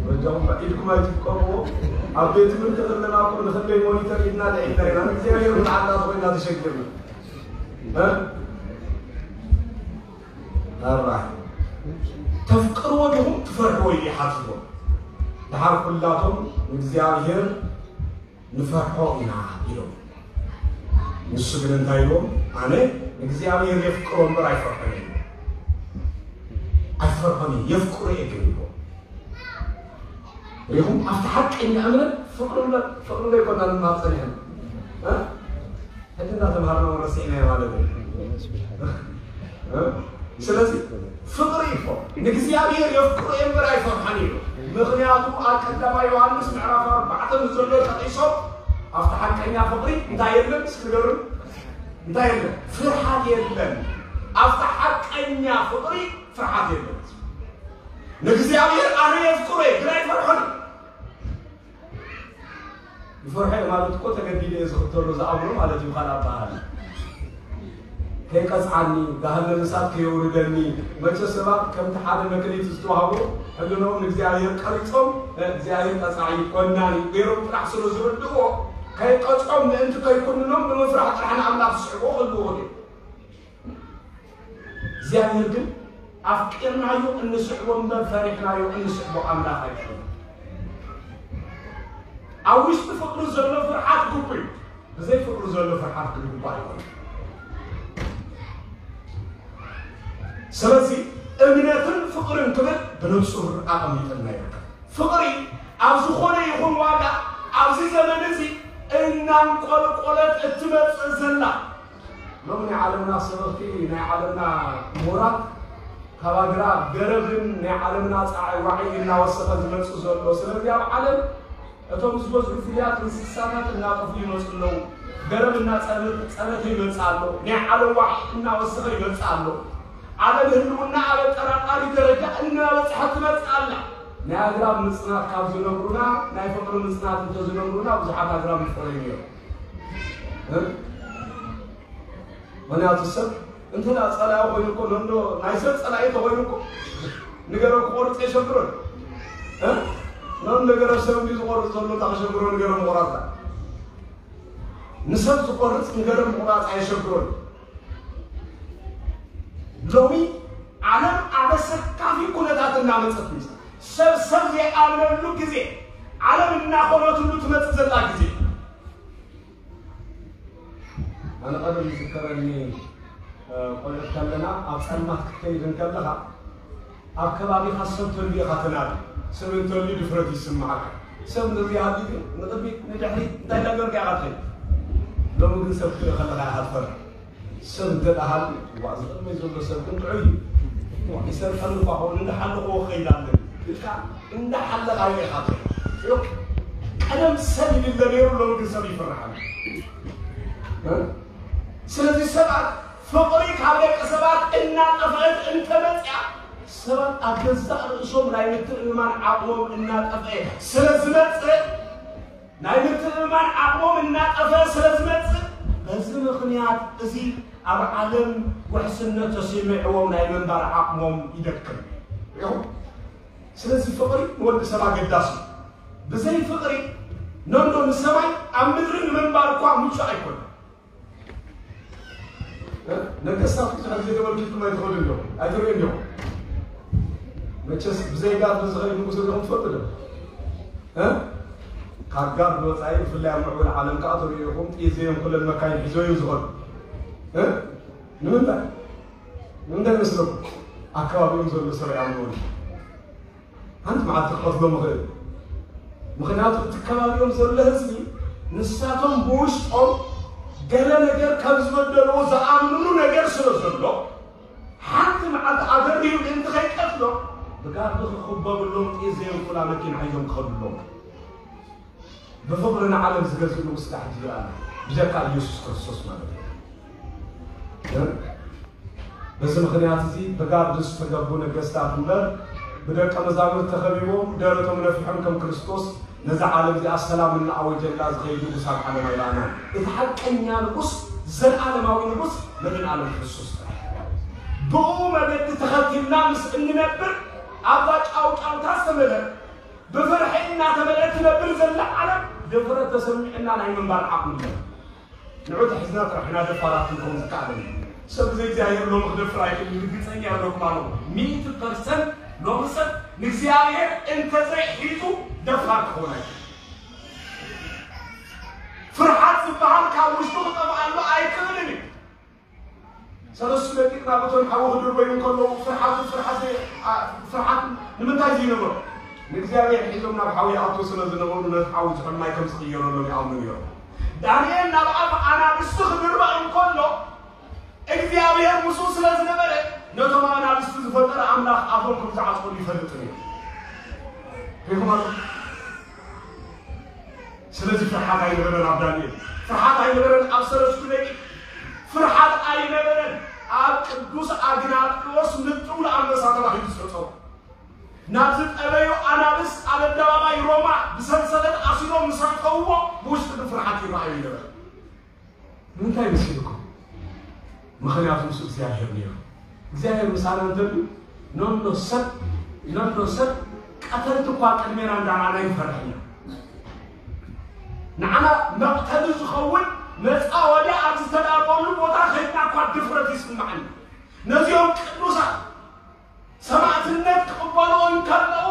በጃኹም ኢድኩም ኣይትፍቀርዎ። ኣብ ቤት ትምህርቲ ከለና እኮ ንኽንደይ ሞኒተር ኢድና ልዒልና ኢና። ንእግዚኣብሔር ንዓና ኮይና ተሸጊርና። እ? ኣርባዕተ። ተፍቅርዎ ዲኹም ትፈርሕዎ ኢሉ ይሓትዎ። ደሓር ኩላቶም ንእግዚኣብሔር ንፈርሖ ኢና ኢሎም። ንሱ ግን እንታይ ኢልዎም? ኣነ እግዚኣብሔር የፍቅሮ እምበር ኣይፈርሖን እየ። ኣይፈርሖን እየ፣ የፍቅሮ እየ ግን ኢልዎም። ሪኹም ኣብቲ ሓቀኛ እምነት ፍቅሪ እምበር፣ ፍቅሪ እምበር ኣይኮና ንማር ጸኒሕና። እ? ሕጂ እንዳተምሃርና እውን ረሲዕናዮ ማለት እዩ። እ? ስለዚ ፍቅሪ እኮ ንእግዚኣብሔር የፍቅሮ እየ እምበር ኣይፈርሖን እዩ። ምኽንያቱ ኣብ ቀዳማይ ዮሃንስ ምዕራፍ ኣርባዕተ ምስ ዘሎ ጠቂሶም ኣብቲ ሓቀኛ ፍቅሪ እንታይ የለን? እስኪ ንገሩን። እንታይ የለን? ፍርሃት የለን። ኣብቲ ሓቀኛ ፍቅሪ ፍርሃት የለን። ንእግዚኣብሔር ኣነ የፍቅሮ እየ ግን ኣይፈርሖን እዩ። ይፈርሖ እየ ማለት እኮ ተገዲደ እየ ዝኽተሎ ዝኣምኖ ማለት እዩ። ካልእ ኣበሃህላ ከይቀጽዓኒ፣ ገሃነም እሳት ከየውርደኒ። መቸ ሰባት ከምቲ ሓደ መክሊት ዝተዋህቦ ሕልኖም ንእግዚኣብሔር ቀሪጾም፣ እግዚኣብሔር ቀጻዒ ኮናኒ ገይሮም ጥራሕ ስለ ዝርድእዎ፣ ከይቀጽዖም ምእንቲ ከይኩንኖም ብምፍራሕ ጥራሕ ንኣምላኽ ዝስዕብዎ ክህልዉ ይኽእሉ እዮም። እግዚኣብሔር ግን ኣፍቂርናዮ እንስዕቦ እምበር ፈሪሕናዮ እንስዕቦ ኣምላኽ ኣይኮነን። ኣብ ውሽጢ ፍቅሪ ዘሎ ፍርሓት ግቡእ እዩ። ብዘይ ፍቅሪ ዘሎ ፍርሓት ግን ግቡእ ኣይኮነን። ስለዚ እምነትን ፍቅርን ክብል ብንጹር ኣቐሚጥልና ይርከብ። ፍቅሪ ኣብ ዝኾነ ይኹን ዋጋ ኣብዚ ዘመን እዚ እናንቆልቆለት እትመጽእ ዘላ ሎሚ ናይ ዓለምና ሰበኽቲ፣ ናይ ዓለምና ምሁራት ካብ ኣግራብ ገረብን ናይ ዓለምና ጻዕዋዒ እናወሰኸ ዝመጽእ ዘሎ። ስለዚ ኣብ ዓለም እቶም ዝበዝሑ ፍርያት እንስሳታት እናጠፍኡ ይመጹ ኣለዉ። ገረብ እናጸበተ ይመጽእ ኣሎ። ናይ ዓለም ዋዒ እናወሰኸ ይመጽእ ኣሎ። ዓለም ህልውና ኣብ ኣጠራጣሪ ደረጃ እናበጽሐት ትመጽእ ኣላ። ናይ ኣግራብ ምጽናት ካብ ዝነግሩና ናይ ፍቕሪ ምጽናት እንተዝነግሩና ብዙሓት ኣግራብ ምፍረዩ ነይሩ። እ? ምኽንያቱ ሰብ እንተ ደኣ ጸላኢ ኮይኑ እኮ ነንዶ ናይ ሰብ ጸላኢ ተኮይኑ እኮ ንገረ ክቆርጽ የሸግሮን። እ? ነን ነገረ ሰብ እንዲ ዝቆርጽ ዘሎ እታ ከሸግሮ ንገረ ምቑራጽ እያ። ንሰብ ዝቆርጽ ንገረ ምቑራጽ ኣየሸግሮን። ሎሚ ዓለም ኣብ ኣሰካፊ ኩነታት እናመጸት ምስ ሰብ ሰብ ዘይኣምነሉ ግዜ ዓለም እናኾነትሉ ትመጽእ ዘላ ግዜ ኣነ ቀደም ይዝከረኒ፣ እ፣ ቆልዑት ከለና ኣብ ጸልማት ክትከይድ እንከለኻ ኣብ ከባቢኻ ሰብ ተልዩ ኢኻ ትናዲ። ሰብ እንተልዩ ድፍረት ይስምዓካ። ሰብ እንተዘይሃልዩ ግን ንቕድሚት ንድሕሪት እንታይ እንዳገበርካ ኢኻ ትኸይድ። ሎሚ ግን ሰብ ክትርኢ ከለኻ ኢኻ ትፈርሕ። ሰብ እንተ ደኣ ሃልዩ፣ ዋእ፣ እዚ ቅድመይ ዘሎ ሰብ ግን ጥዑይ እዩ። ዋእ፣ ይሰርቀኒ እኳ ኸውን እንዳሓለኽዎ ክኸይድ ኣለኒ ኢልካ እንዳሓለኻዮ ኢኻ ትኸይድ። ቀደም ሰብ ይድለ ነይሩ፣ ሎሚ ግን ሰብ ይፍርሓሉ። እ? ስለዚ ሰባት ፍቕሪ ካብ ደቂ ሰባት እናጠፍአት እንተመፅያ፣ ሰባት ኣብ ገዛእ ርእሶም ናይ ምትእምማን ዓቕሞም እናጠፍአ ስለ ዝመፅእ፣ ናይ ምትእምማን ዓቕሞም እናጠፍአ ስለ ዝመፅእ፣ በዚ ምኽንያት እዚ ኣብ ዓለም ውሕስነት ተሰሚዕዎም ናይ ምንባር ዓቕሞም ይደክም። ሪኹም? ስለዚ ፍቕሪ ንወዲ ሰብ ኣገዳሲ እዩ። ብዘይ ፍቕሪ ነንዶ ንሰማይ ኣብ ምድሪ ንምንባር እኳ ምቹእ ኣይኮነን። እ? ነገስታት ብዙሕ ግዜ ተመልኪትኩም ኣይትኸዱ እንዲኹም፣ ኣይትርእዩ እንዲኹም። መቸስ ብዘይ ጋት ንዝኸይድ ንጉስ እንዲኹም ትፈልጡ ዶ? እ? ካብ ጋር ብወፃኢ ብፍላይ ኣብ ምዕቡል ዓለም ከዓ ተሪኢኹም ጥይት ዘየንኩለን መካይን ሒዞ እዮም ዝኸዱ። እ? ንምንታይ? ንምንታይ መስለኩም? ኣከባቢኦም ዘሎ ሰብ ኣይኣምንዎን። ሓንቲ መዓልቲ ክቐትሎም ይኽእል። ምኽንያቱ እቲ ከባቢኦም ዘሎ ህዝቢ ንሳቶም ብውሽጦም ገለ ነገር ካብ ዝበደልዎ ዝኣምንሉ ነገር ስለ ዘሎ ሓንቲ መዓልቲ ኣደሪሁ ምእንቲ ከይቀትሎም ብጋርዲ ክኽበብሎም ጥይት ዘየንኩላ መኪና ሒዞም ክኸዱ ኣለዎም። ብፍቕሪ ንዓለም ዝገዝእ ንጉስ ዳሕጂ ይረኣና ብጀካ ኢየሱስ ክርስቶስ ማለት እዩ። በዚ ምኽንያት እዚ ብጋርዲ ዝተገቡ ነገስታት እምበር ብደቀ መዛሙርት ተኸቢቦም ደረቶም ነፊሖም ከም ክርስቶስ ነዛ ዓለም እዚኣ ሰላም እናኣወጀላ ዝኸይድ ንጉስ ኣብ ዓለም ኣይረኣናን። እቲ ሓቀኛ ንጉስ ዘለኣለማዊ ንጉስ መድን ዓለም ክርስቶስ ጥራሕ። ብኡ መገዲ ተኸቲልና ምስ እንነብር ኣብዛ ጫውጫውታ ዝተመልአት ብፍርሒ እናተመልአት ትነብር ዘላ ዓለም ድፍረት ተሰሚዕና ናይ ምንባር ዓቕሚ የለን። ንዑ ተሒዝና ጥራሕ ኢና ደፋራት ክንከውን ዝከኣለና። ሰብ ብዘይ እግዚኣብሔር ሎሚ ክደፍር ኣይክእልን። ርግጸኛ እብለኩም ኣለኹ። ሚእቲ ፐርሰንት ሎሚ ሰብ ንእግዚኣብሔር እንተዘይሒዙ ደፋር ክኸውን ኣይክእልን። ፍርሓት ዝበሃል ካብ ውሽጡ ክጠፍኣሉ ኣይክእልን እዩ። ሰለስቱ ደቂቕ ናብ እቶን ሓዊ ክድርበዩ እንከለዉ ፍርሓቱ ፍርሓት ዘይ-፣ ኣ-፣ ፍርሓት ንምንታይ ዘይነበሮ? ንእግዚኣብሔር ሒዞም ናብ ሓዊ ይኣትዉ ስለ ዝነበሩ ነቲ ሓዊ ዝሑል ማይ ከም ዝቕየረሎም ይኣምኑ ነይሮም። ዳንኤል ናብ ኣፍ ኣናብስቲ ክድርበ እንከሎ እግዚኣብሔር ምስኡ ስለ ዝነበረ ነቶም ኣናብስቲ ዝፈጠረ ኣምላኽ ኣፎም ከም ዝዓጽወሉ ይፈልጥ ነይሩ። ሪኢኹም ኣለኹም? ስለዚ ፍርሓት ኣይነበረን ኣብ ዳንኤል፣ ፍርሓት ኣይነበረን ኣብ ሰለስቱ ደቂቕ፣ ፍርሓት ኣይነበረን ኣብ ቅዱስ ኣግናጥዮስ ምጥው ለኣንበሳ ተባሂሉ ዝተጸውዐ። ናብ ዝጠበዩ ኣናብስ ኣብ ኣደባባይ ሮማ ብሰንሰለት ኣሲሮም ምስ ኣእተውዎ ብውሽጢ ግን ፍርሓት ይረኣዩ ኣይነበረን። ንምንታይ መሲልኩም? ምኽንያቱ ምስ እግዚኣብሔር ነይሩ። እግዚኣብሔር ምሳና እንተሉ ነሎ ሰብ ነሎ ሰብ ቀተልቲ እኳ ቅድሜና እንዳረኣና ይፈርሕ ኢና። ንዓና መቕተሊ ዝኸውን መጻወድያ ኣብ ዝተዳለወሉ ቦታ ከይድና እኳ ድፍረት ይስምዓና። ነዚኦም ቅዱሳት ሰማዕትነት ክቕበሉ እንከለዉ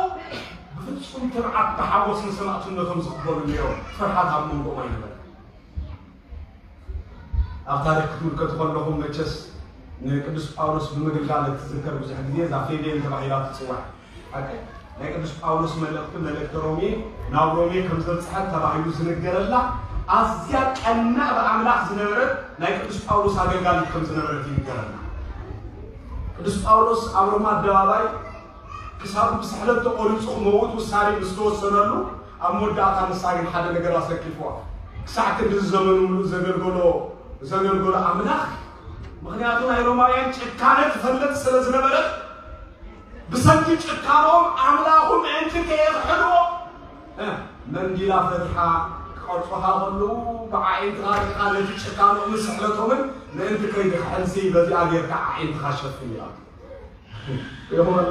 ብፍጹም ትብዓት ብሓጎስ ንሰማዕትነቶም ዝቕበሉ ነይሮም። ፍርሓት ኣብ መንጎኦም ኣይነበረን። ኣብ ታሪኽ ክትምልከቱ ከለኹም መቸስ ንቅዱስ ጳውሎስ ብምግልጋል እትዝከር ብዙሕ ግዜ እዛ ፌቤን ተባሂላ ትጽዋዕ። ሓቂ ናይ ቅዱስ ጳውሎስ መልእኽቲ መልእኽቲ ሮሜ ናብ ሮሜ ከም ዘብጽሐት ተባሂሉ ዝንገረላ ኣዝያ ቀናእ ብኣምላኽ ዝነበረት ናይ ቅዱስ ጳውሎስ ኣገልጋሊት ከም ዝነበረት ይንገረና። ቅዱስ ጳውሎስ ኣብ ሮማ ኣደባባይ ክሳዱ ብስሕለት ተቖሪጹ ክመውት ውሳኔ ምስ ተወሰነሉ ኣብ መወዳእታ ንሳ ግን ሓደ ነገር ኣሰኪፍዋ። ክሳዕ ክንዲ ዘመኑ ምሉእ ዘገልገሎ ዘገልገሎ ኣምላኽ ምኽንያቱ ናይ ሮማውያን ጭካነ ትፈልጥ ስለ ዝነበረት ብሰንኪ ጭካኖም ኣምላኹ ምእንቲ ከየኽሕድዎ እ፣ መንዲላ ፈቲሓ ክቐርጹኻ ከለዉ ብዓዒንትኻ ርኢኻ ነቲ ጭካኖምን ስሕለቶምን ምእንቲ ከይድኽሕልሲ በዚኣ ጌርካ ዓዒንትኻ ሸፍን ኢላ። ይኹን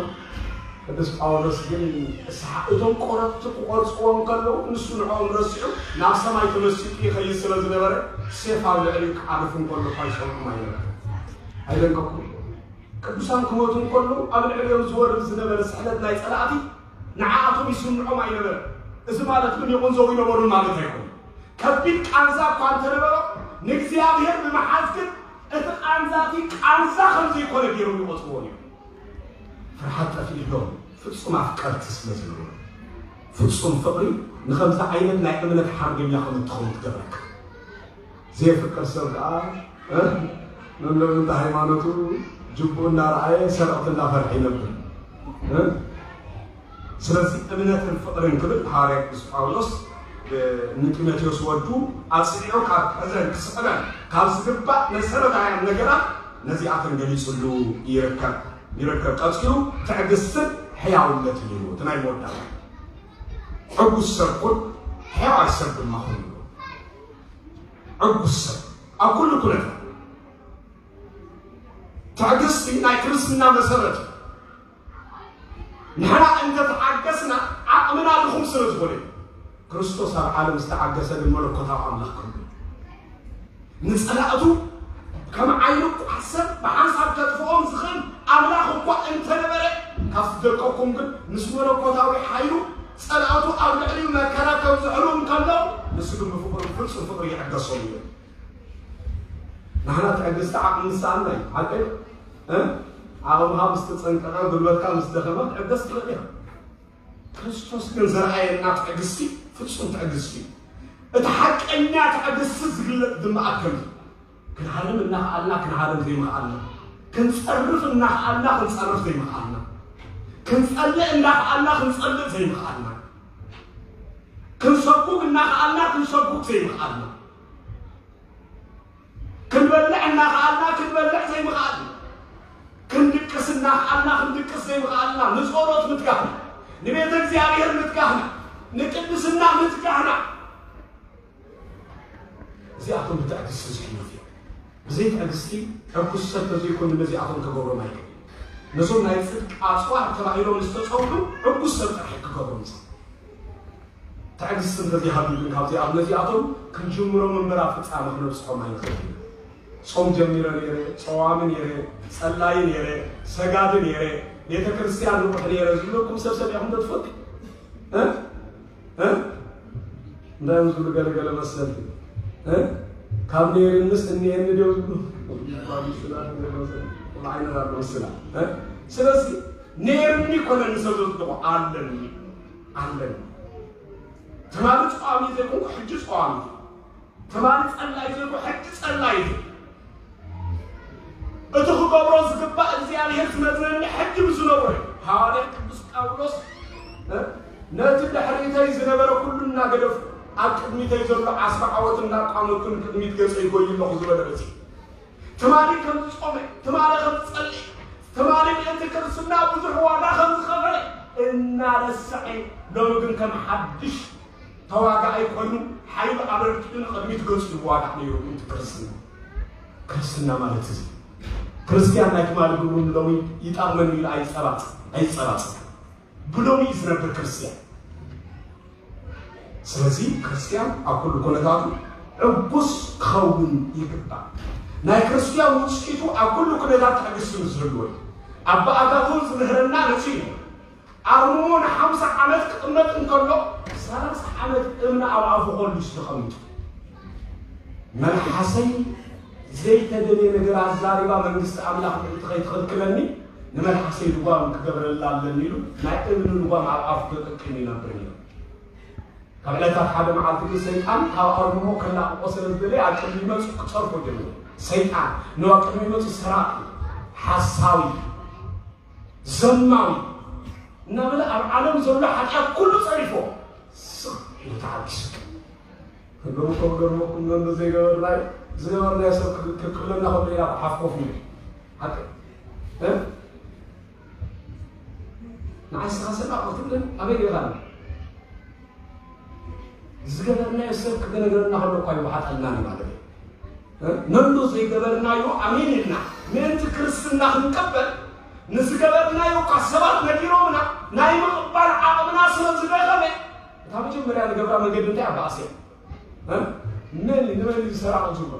ቅዱስ ጳውሎስ ግን እሳሓ እቶም ቆረጽቲ ክቆርጽዎም ከለዉ ንሱ ንዕኦም ረሲዑ ናብ ሰማይ ተመሲጡ ይኸይድ ስለ ዝነበረ ሴፍ ኣብ ልዕሊኡ ክዓርፍ እንከሎ እኳ ይሰምዖም ኣይነበረ። ኣይደንቀኩም? ቅዱሳን ክሞቱ እንከለዉ ኣብ ልዕሊኦም ዝወርድ ዝነበረ ስሕለት ናይ ጸላእቲ ንዓኣቶም ይስምዖም ኣይነበረ። እዚ ማለት ግን ይቑንዘዉ ይነበሩን ማለት ኣይኮነ። ከቢድ ቃንዛ እኳ እንተነበሮ ንእግዚኣብሔር ብምሓዝ ግን እቲ ቃንዛቲ ቃንዛ ከም ዘይኮነ ገይሮም ይቖጽርዎ ነይሮም። ፍርሓት ጠፊእሎም ፍጹም ኣፍቀርቲ ስለ ዝነበሩ ፍጹም ፍቕሪ ንኸምዚ ዓይነት ናይ እምነት ሓርበኛ ከም እትኸውን ትገብረካ። ዘየፍቅር ሰብ ከዓ እ፣ መምለሚ እንተ ሃይማኖቱ ጅቡ እናረኣየ ሰረቕቲ እናፈርሐ ይነብር እ? ስለዚ እምነትን ፍቕርን ክብል ሃዋርያ ቅዱስ ጳውሎስ ንጢሞቴዎስ ወዱ ኣጽኒዑ ካብ ሕዘን ክስዕበን ካብ ዝግባእ መሰረታውያን ነገራት ነዚኣተን ገሊጹሉ ይርከብ ይርከብ። ቀጺሉ ትዕግስትን ሕያውነትን እዩ እቲ ናይ መወዳእታ። ዕጉስ ሰብ ኩን ሕያዋይ ሰብ ድማ ኩን ይብሎ። ዕጉስ ሰብ ኣብ ኩሉ ኩነታት ትዕግስቲ ናይ ክርስትና መሰረት እዩ። ንሕና እንተተዓገስና ዓቕምና ድኹም ስለ ዝኾነ እዩ። ክርስቶስ ኣብ ዓለም ዝተዓገሰ ግን መለኮታዊ ኣምላኽ ኮይኑ ንጸላእቱ ከም ዓይኑ ቋሰር ብሓንሳብ ከጥፍኦም ዝኽእል ኣምላኽ እኳ እንተነበረ ካብ ዝደቀኩም ግን ምስ መለኮታዊ ሓይሉ ጸላእቱ ኣብ ልዕሊኡ መከራ ከብዝሕሉ እንከሎ፣ ንሱ ግን ብፍቕሩ፣ ፍጹም ፍቕሪ ይዕገሶም እዩ። ንሕና ትዕግስቲ ዓቕሚ ንስኣና እዩ። ሓቂ እዩ። እ? ዓቕምኻ ምስ ተጸንቀቐ፣ ጉልበትካ ምስ ደኸመ፣ ትዕገስ ትኽእል ኢኻ። ክርስቶስ ግን ዘርኣየና ትዕግስቲ ፍጹም ትዕግስቲ እዩ። እቲ ሓቀኛ ትዕግስቲ ዝግለጽ ድማ ኣብ ከምዚ፣ ክንሃርም እናኸኣልና ክንሃርም ዘይምኽኣልና፣ ክንጸርፍ እናኸኣልና ክንጸርፍ ዘይምኽኣልና፣ ክንጸልእ እናኸኣልና ክንጸልእ ዘይምኽኣልና፣ ክንሰጉግ እናኸኣልና ክንሰጉግ ዘይምኽኣልና፣ ክንበልዕ እናኸኣልና ክንበልዕ ዘይምኽኣልና፣ ክንድቅስ እናኸኣልና ክንድቅስ ዘይምኽኣልና፣ ንጸሎት ምትጋህና፣ ንቤተ እግዚኣብሔር ምትጋህና፣ ንቅድስና ምትጋህና፣ እዚኣቶም ብትዕግስቲ ዝሕለፉ እዮም። ብዘይ ትዕግስቲ ዕጉስ ሰብ ተዘይኮይኑ ነዚኣቶም ክገብሮም ኣይክእልን። ነዞም ናይ ጽድቂ ኣጽዋር ተባሂሎም ዝተጸውዑ ዕጉስ ሰብ ጥራሕ ክገብሮም ዝኽእል። ትዕግስቲ እንተዘይሃልዩ ግን ካብዚኣም ነዚኣቶም ክንጅምሮም እምበር ኣብ ፍጻመ ክነብጽሖም ኣይንኽእል ኢና። ጾም ጀሚረ ነይረ፣ ጸዋሚ ነይረ፣ ጸላዪ ነይረ፣ ሰጋዲ ነይረ፣ ቤተ ክርስቲያን ንቑሕ ነይረ ዝብለኩም ሰብ ሰሚዕኹም ዶ ትፈልጡ? እ? እ? እንታይ እዮም ዝብሉ ገለገለ መሰልቲ? እ? ካብ ነይርንስ እኒኤኒ ድዮም ዝብሉ? ምስላ፣ ዓይነት ኣሎ ምስላ። እ? ስለዚ ነይርኒ ኮነኒ ሰብ ዘጽድቖ ኣለኒ፣ ኣለኒ። ትማሊ ጸዋሚ ዘይኮንኩ ሕጂ ጸዋሚ። ትማሊ ጸላኢ ዘይኮንኩ ሕጂ ጸላኢ። እቲ ክገብሮ ዝግባእ እግዚኣብሔር ዝመዝነኒ ሕጂ ምስ ዝነብሮ እዩ። ሃዋርያ ቅዱስ ጳውሎስ፣ እ፣ ነቲ ድሕሪተይ ዝነበረ ኩሉ እናገደፍኩ፣ ኣብ ቅድሚተይ ዘሎ ዓስቢ ዓወት እናቋመትኩ ንቅድሚት ገጸ ይጎይ ኣለኹ ዝበለ በዚ። ትማሊ ከም ዝጾመ፣ ትማሊ ከም ዝጸልእ፣ ትማሊ ምእንቲ ክርስትና ብዙሕ ዋጋ ከም ዝኸፈለ እናረስዐ፣ ሎሚ ግን ከም ሓድሽ ተዋጋኣይ ኮይኑ ሓይሉ ኣበርኪቱ ንቕድሚት ገጹ ይዋጋእ ነይሩ። ምእንቲ ክርስትና፣ ክርስትና ማለት እዚ። ክርስቲያን ናይ ትማሊ ግብሩ ንሎሚ ይጠቕመኒ ኢሉ ኣይጸባጽ-፣ ኣይጸባጽብን። ብሎሚ እዩ ዝነብር ክርስቲያን። ስለዚ ክርስቲያን ኣብ ኩሉ ኩነታቱ ዕጉስ ክኸውን ይግባእ። ናይ ክርስቲያን ውጽኢቱ ኣብ ኩሉ ኩነታት ትዕግስቲ ምስ ዝህልዎ እዩ። ኣባ ኣጋቶን ዝምህረና ነዚ እዩ። ኣርምሞ ንሓምሳ ዓመት ክቕመጥ እንከሎ፣ ሰላሳ ዓመት እምኒ ኣብ ኣፉ ከልሱ ተቐሚጡ። መልሓሰይ ዘይተደልየ ነገር ኣዛሪባ መንግስቲ ኣምላኽ ምእንቲ ከይትኽልክለኒ፣ ንመልሓሰይ ልጓም ክገብረላ ኣለኒ ኢሉ ናይ እምኒ ልጓም ኣብ ኣፉ ተጠቂሙ ይነብር ነይሩ። ካብ ዕለታት ሓደ መዓልቲ ግን ሰይጣን ካብ ኣርምሞ ከላቕቖ ስለ ዝደለየ ኣብ ቅድሚ መጹ ክጸርፎ ጀመረ። ሰይጣን ንዋ ቅድሚ መጹ ሰራቂ፣ ሓሳዊ፣ ዘማዊ እናበለ ኣብ ዓለም ዘሎ ሓጢኣት ኩሉ ጸሪፎ ስቕ ኢሉ ተዓጊሱ። ክገርመኩም፣ ገርመኩም፣ መን ዘይገበርናዮ፣ ዝገበርናዮ ሰብ ክብ-፣ ክብለና ከሎ ኢና ሓፍ ኮፍ ኢሉ። ሓቂ። እ? ንዓይ ስኻ ሰላቕ ክትብለኒ ኣበይ ገይርካ? ዝገበርናዮ ሰብ ክነግረና ከሎ እኳ ይወሓጠልና እዩ ማለት እዩ። እ? ነንዶ ዘይገበርናዮ ኣሜን ኢልና ምእንቲ ክርስትና ክንቀበል፣ ንዝገበርናዮ እኳ ሰባት ነጊሮምና፣ ናይ ምቕባል ዓቕምና ስለ ዝደኸመ፣ እታ መጀመርያ ንገብራ መገዲ እንታይ ኣበኣሰ? እ? መን እዩ፣ ንመን እዩ ዝሰራቕ ዝብሎ?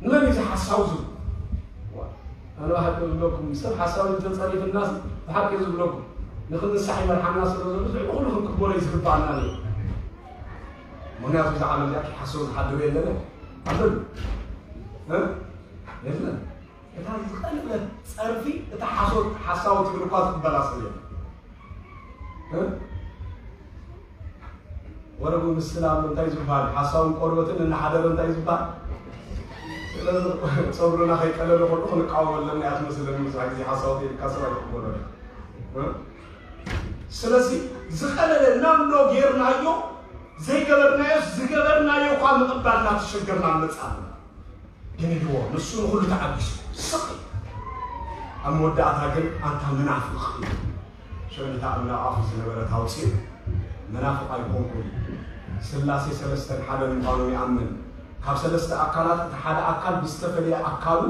ንመን እዩ ዝሓሳው ዝብሎ? ዋ፣ ኣነ ብሓቂ ዝብለኩም፣ ሰብ ሓሳዊ እንተጸሪፍናስ ብሓቂ ዝብለኩም፣ ንኽንንሳሕ ይመርሓና ስለ ዘሎ፣ እዚ ኩሉ ክንቅበሎ እዩ ዝግባኣና ነይሩ። ምኽንያቱ እዛ ዓለም እዚኣ ከይሓስብ ዝሓድር የለን። ኣሎ ዶ? እ? የለን። እታ ዝቐለለት ጸርፊ፣ እታ ሓሶት፣ ሓሳዊ ትብል እኳ ዝቕበላ ሰብ የለን። እ? ወረቡ ምስላ ኣሎ፣ እንታይ ዝበሃል? ሓሳውን ቆርበትን እናሓደረ እንታይ ዝበሃል? ስለዚ ጸጉርና ከይቀለለ ከሎ ክንቃወም ኣለና እያ ትመስለኒ። ብዙሕ ግዜ ሓሳዊ ተይልካ ሰብ ኣይትቕበሎ። እ? ስለዚ ዝቐለለ ናምኖ ጌርናዮ፣ ዘይገበርናዮ፣ ዝገበርናዮ እኳ ምቕባል እናተሸገርና ንመጽእ ኣለና። ግን ኢልዎ፣ ንሱ ንኹሉ ተዓጊሱ ስቕ ኢሉ። ኣብ መወዳእታ ግን ኣንታ መናፍቕ ኢሉ። ሽዑ ነታ እምነ ኣፉ ዝነበረት ኣውፂኡ፣ መናፍቕ ኣይኮንኩን፣ ስላሴ ሰለስተን ሓደን ምዃኖም ይኣምን። ካብ ሰለስተ ኣካላት እቲ ሓደ ኣካል ብዝተፈለየ ኣካሉ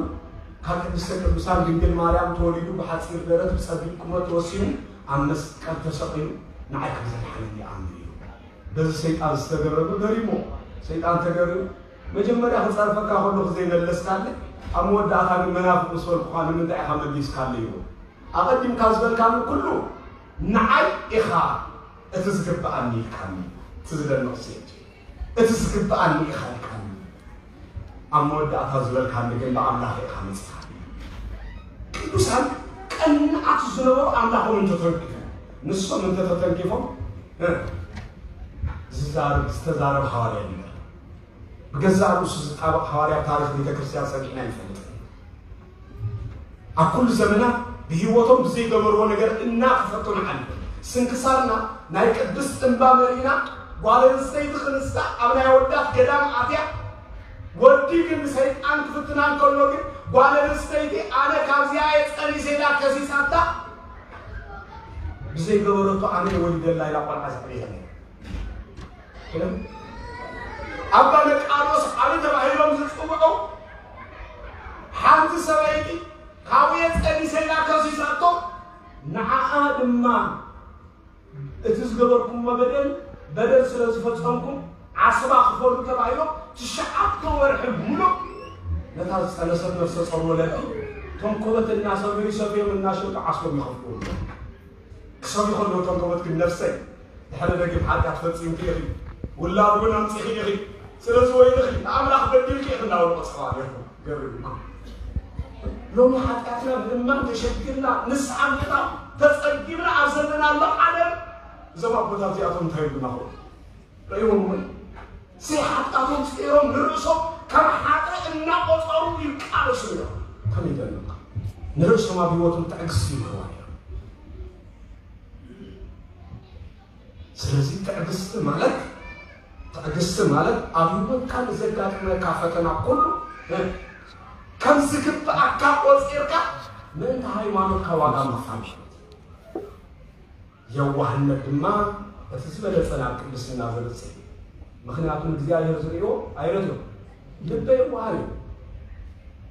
ካብ ቅድስተ ቅዱሳን ድንግል ማርያም ተወሊዱ ብሓፂር ደረት ብፀቢብ ቁመት ተወሲኑ ኣብ መስቀል ተሰቒሉ ንዓይ ከም ዘድሓነኒ ይኣምን ኢሉ። በዚ ሰይጣን ዝተገረመ ገሪሞ፣ ሰይጣን ተገሪሙ። መጀመርያ ክጸርፈካ ከለኹ ዘይመለስካለይ፣ ኣብ መወዳእታ ግን መናፍቕ ምስ በልኩኻ ንምንታይ ኢኻ መሊስካለይ? ይብሎ። ኣቐዲምካ ዝበልካኒ ኩሉ ንዓይ ኢኻ እቲ ዝግብኣኒ ኢልካኒ። እቲ ዝደንቕ ሴት፣ እቲ ዝግብኣኒ ኢኻ ኢልካኒ። ኣብ መወዳእታ ዝበልካኒ ግን ብኣምላኽ ኢኻ መጺኻኒ። ቅዱሳን ቀናኣት ዝነበሩ ኣምላኾም እንተተንኪፎም፣ ንሶም እንተተተንኪፎም፣ እ፣ ዝዛረብ ዝተዛረብ ሃዋርያ የለን። ብገዛእ ርእሱ ዝጣበቕ ሃዋርያ ኣብ ታሪኽ ቤተ ክርስቲያን ሰሚዕና ኣይንፈልጥን። ኣብ ኩሉ ዘመናት ብህይወቶም ብዘይገበርዎ ነገር እናተፈተኑ ሓሊፎም። ስንክሳርና ናይ ቅድስት እምባ መሪና፣ ጓል ኣንስተይቲ ክንሳ ኣብ ናይ ኣወዳት ገዳም ኣትያ፣ ወዲ ግን ንሰይጣን ክፍትና እንከሎ ግን፣ ጓል ኣንስተይቲ ኣነ ካብዚኣ እየ ጸኒሰ ኢላ ከሲሳታ፣ ብዘይገበረቶ ኣነ እየ ወሊደላ ኢላ ቆልዓ ዘዕበየት። ኣባ መቃርዮስ ዓቢ ተባሂሎም ዝጽውዑ፣ ሓንቲ ሰበይቲ ካብኡ እየ ጸኒሰ ኢላ ከሲሳቶ፣ ንዓኣ ድማ እቲ ዝገበርኩሞ በደል፣ በደል ስለ ዝፈጸምኩም ዓስባ ክፈሉ ተባሂሎም ትሽዓተ ወርሒ ሙሉእ ነታ ዝጸነሰት ነፍሰ ጾር ወለዲ ተንኮበት እናሰረዩ ሰፍዮም እናሸጡ ዓስቦም ይኸፍልዎም። ክሰብዩ ከለዉ እቶም ከቦት ግን፣ ነፍሰይ፣ ድሕሪ ደጊም ሓጢኣት ፈጺምኪ ኢኺ፣ ውላድ እውን ኣምጺኺ ኢኺ፣ ስለዚ ወይልኺ፣ ንኣምላኽ በዲልኪ ኢኺ እናበሉ ቀጽዕዋ ነይሮም። ገርም እኮ። ሎሚ ሓጢኣትና ምእማን ተሸጊርና፣ ንስሓ ምእታው ተጸጊምና ኣብ ዘለናሉ ዓለም፣ እዞም ኣቦታት እዚኣቶም እንታይ ይብሉና ኾኑ? ርእይዎም እውን ዘይሓጣቶም ጸይሮም ንርእሶም ከም ሓጥእ እናቖጸሩ ይቃለሱ እዮም። ከመይ ይደንቕ! ንርእሶም ኣብ ህይወቶም ትዕግስቲ ይምህርዋ ነይሮም። ስለዚ ትዕግስቲ ማለት፣ ትዕግስቲ ማለት ኣብ ህይወትካ ንዘጋጥመካ ፈተና ኩሉ ከም ዝግብኣካ ቆጺርካ ምእንቲ ሃይማኖትካ ዋጋ ምኽፋል ማለት እዩ። የዋህነት ድማ እቲ ዝበለጸ ናብ ቅድስና ዘብጽሕ እዩ። ምኽንያቱ ንእግዚኣብሔር ዝርእዮ ኣይረትዮ። ልበ የዋሃት እዩ።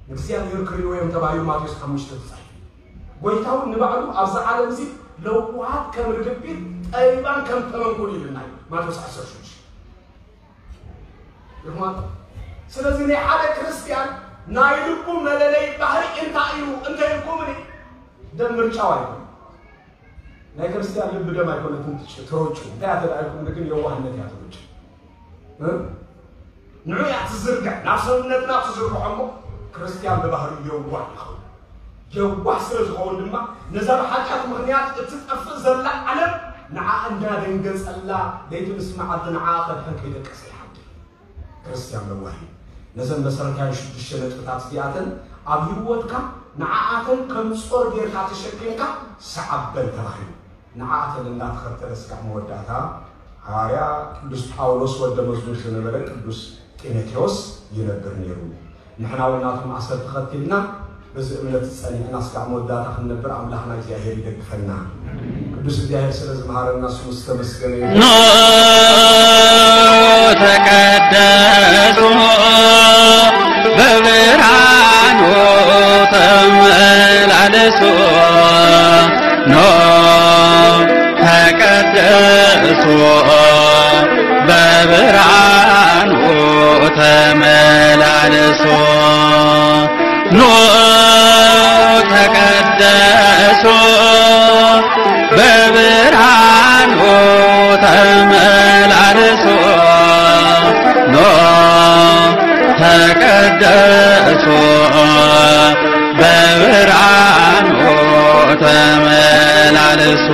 ንእግዚኣብሔር ክርእይዎ እዮም ተባሂሉ ማቴዎስ ሓሙሽተ ተጻሒፉ። ጎይታ እውን ንባዕሉ ኣብዛ ዓለም እዚ ለዋሃት ከም ርግቢት፣ ጠቢባን ከም ተመንኩል ይብልና እዩ። ማቴዎስ ዓሰርተ ሽዱሽተ። ይኹን። ስለዚ ናይ ሓደ ክርስትያን ናይ ልቡ መለለይ ባህሪ እንታይ እዩ እንተ ኢልኩምኒ፣ ደም ምርጫው ኣይኮነን። ናይ ክርስትያን ልቢ ደም ኣይኮነትን ትጭ-፣ ትሮጩ። እንታይ እያ ተባሂልኩም ግን የዋህነት እያ ትሮጩ። እ? ንዑ እያ ትዝርግሕ፣ ናብ ሰውነትና ትዝርግሖ እሞ ክርስትያን ብባህሪ የዋህ ይኸውን። የዋህ ስለ ዝኸውን ድማ ነዛ ብሓጢኣት ምኽንያት እትጠፍእ ዘላ ዓለም ንዓ እንዳደንገጸላ ለይቲ ምስ መዓልቲ ንዓ ከድሕን ከይደቀሰ ይሓድር። ክርስትያን ለዋህ እዩ። ነዘን መሰረታዊ ሽዱሽተ ነጥብታት እዚኣተን ኣብ ህይወትካ ንዓኣተን ከም ጾር ጌርካ ተሸኪምካ ሰዓበን ተባሂሉ። ንዓኣተን እናተኸተለ እስካዕ መወዳእታ ሓዋርያ ቅዱስ ጳውሎስ ወደ መዝሙር ዝነበረ ቅዱስ ጢሞቴዎስ ይነብር ነይሩ። ንሕና እውን ናቶም ኣሰር ተኸቲልና በዚ እምነት ጸኒዕና እስካዕ መወዳእታ ክንነብር ኣምላኽና እግዚኣብሔር ይደግፈና። ቅዱስ እግዚኣብሔር ስለ ዝመሃረና ስሙ ዝተመስገነ ይሁን። ኖ ተቀደሱ በብርሃኑ ተመላለሱ። ኖ ተቀደሱ በብርሃኑ ተመላለሱ። ኖ ተቀደሱ በብርሃኑ ተመላለሱ። ኖ ተቀደሱ በብርሃኑ ተመላለሱ።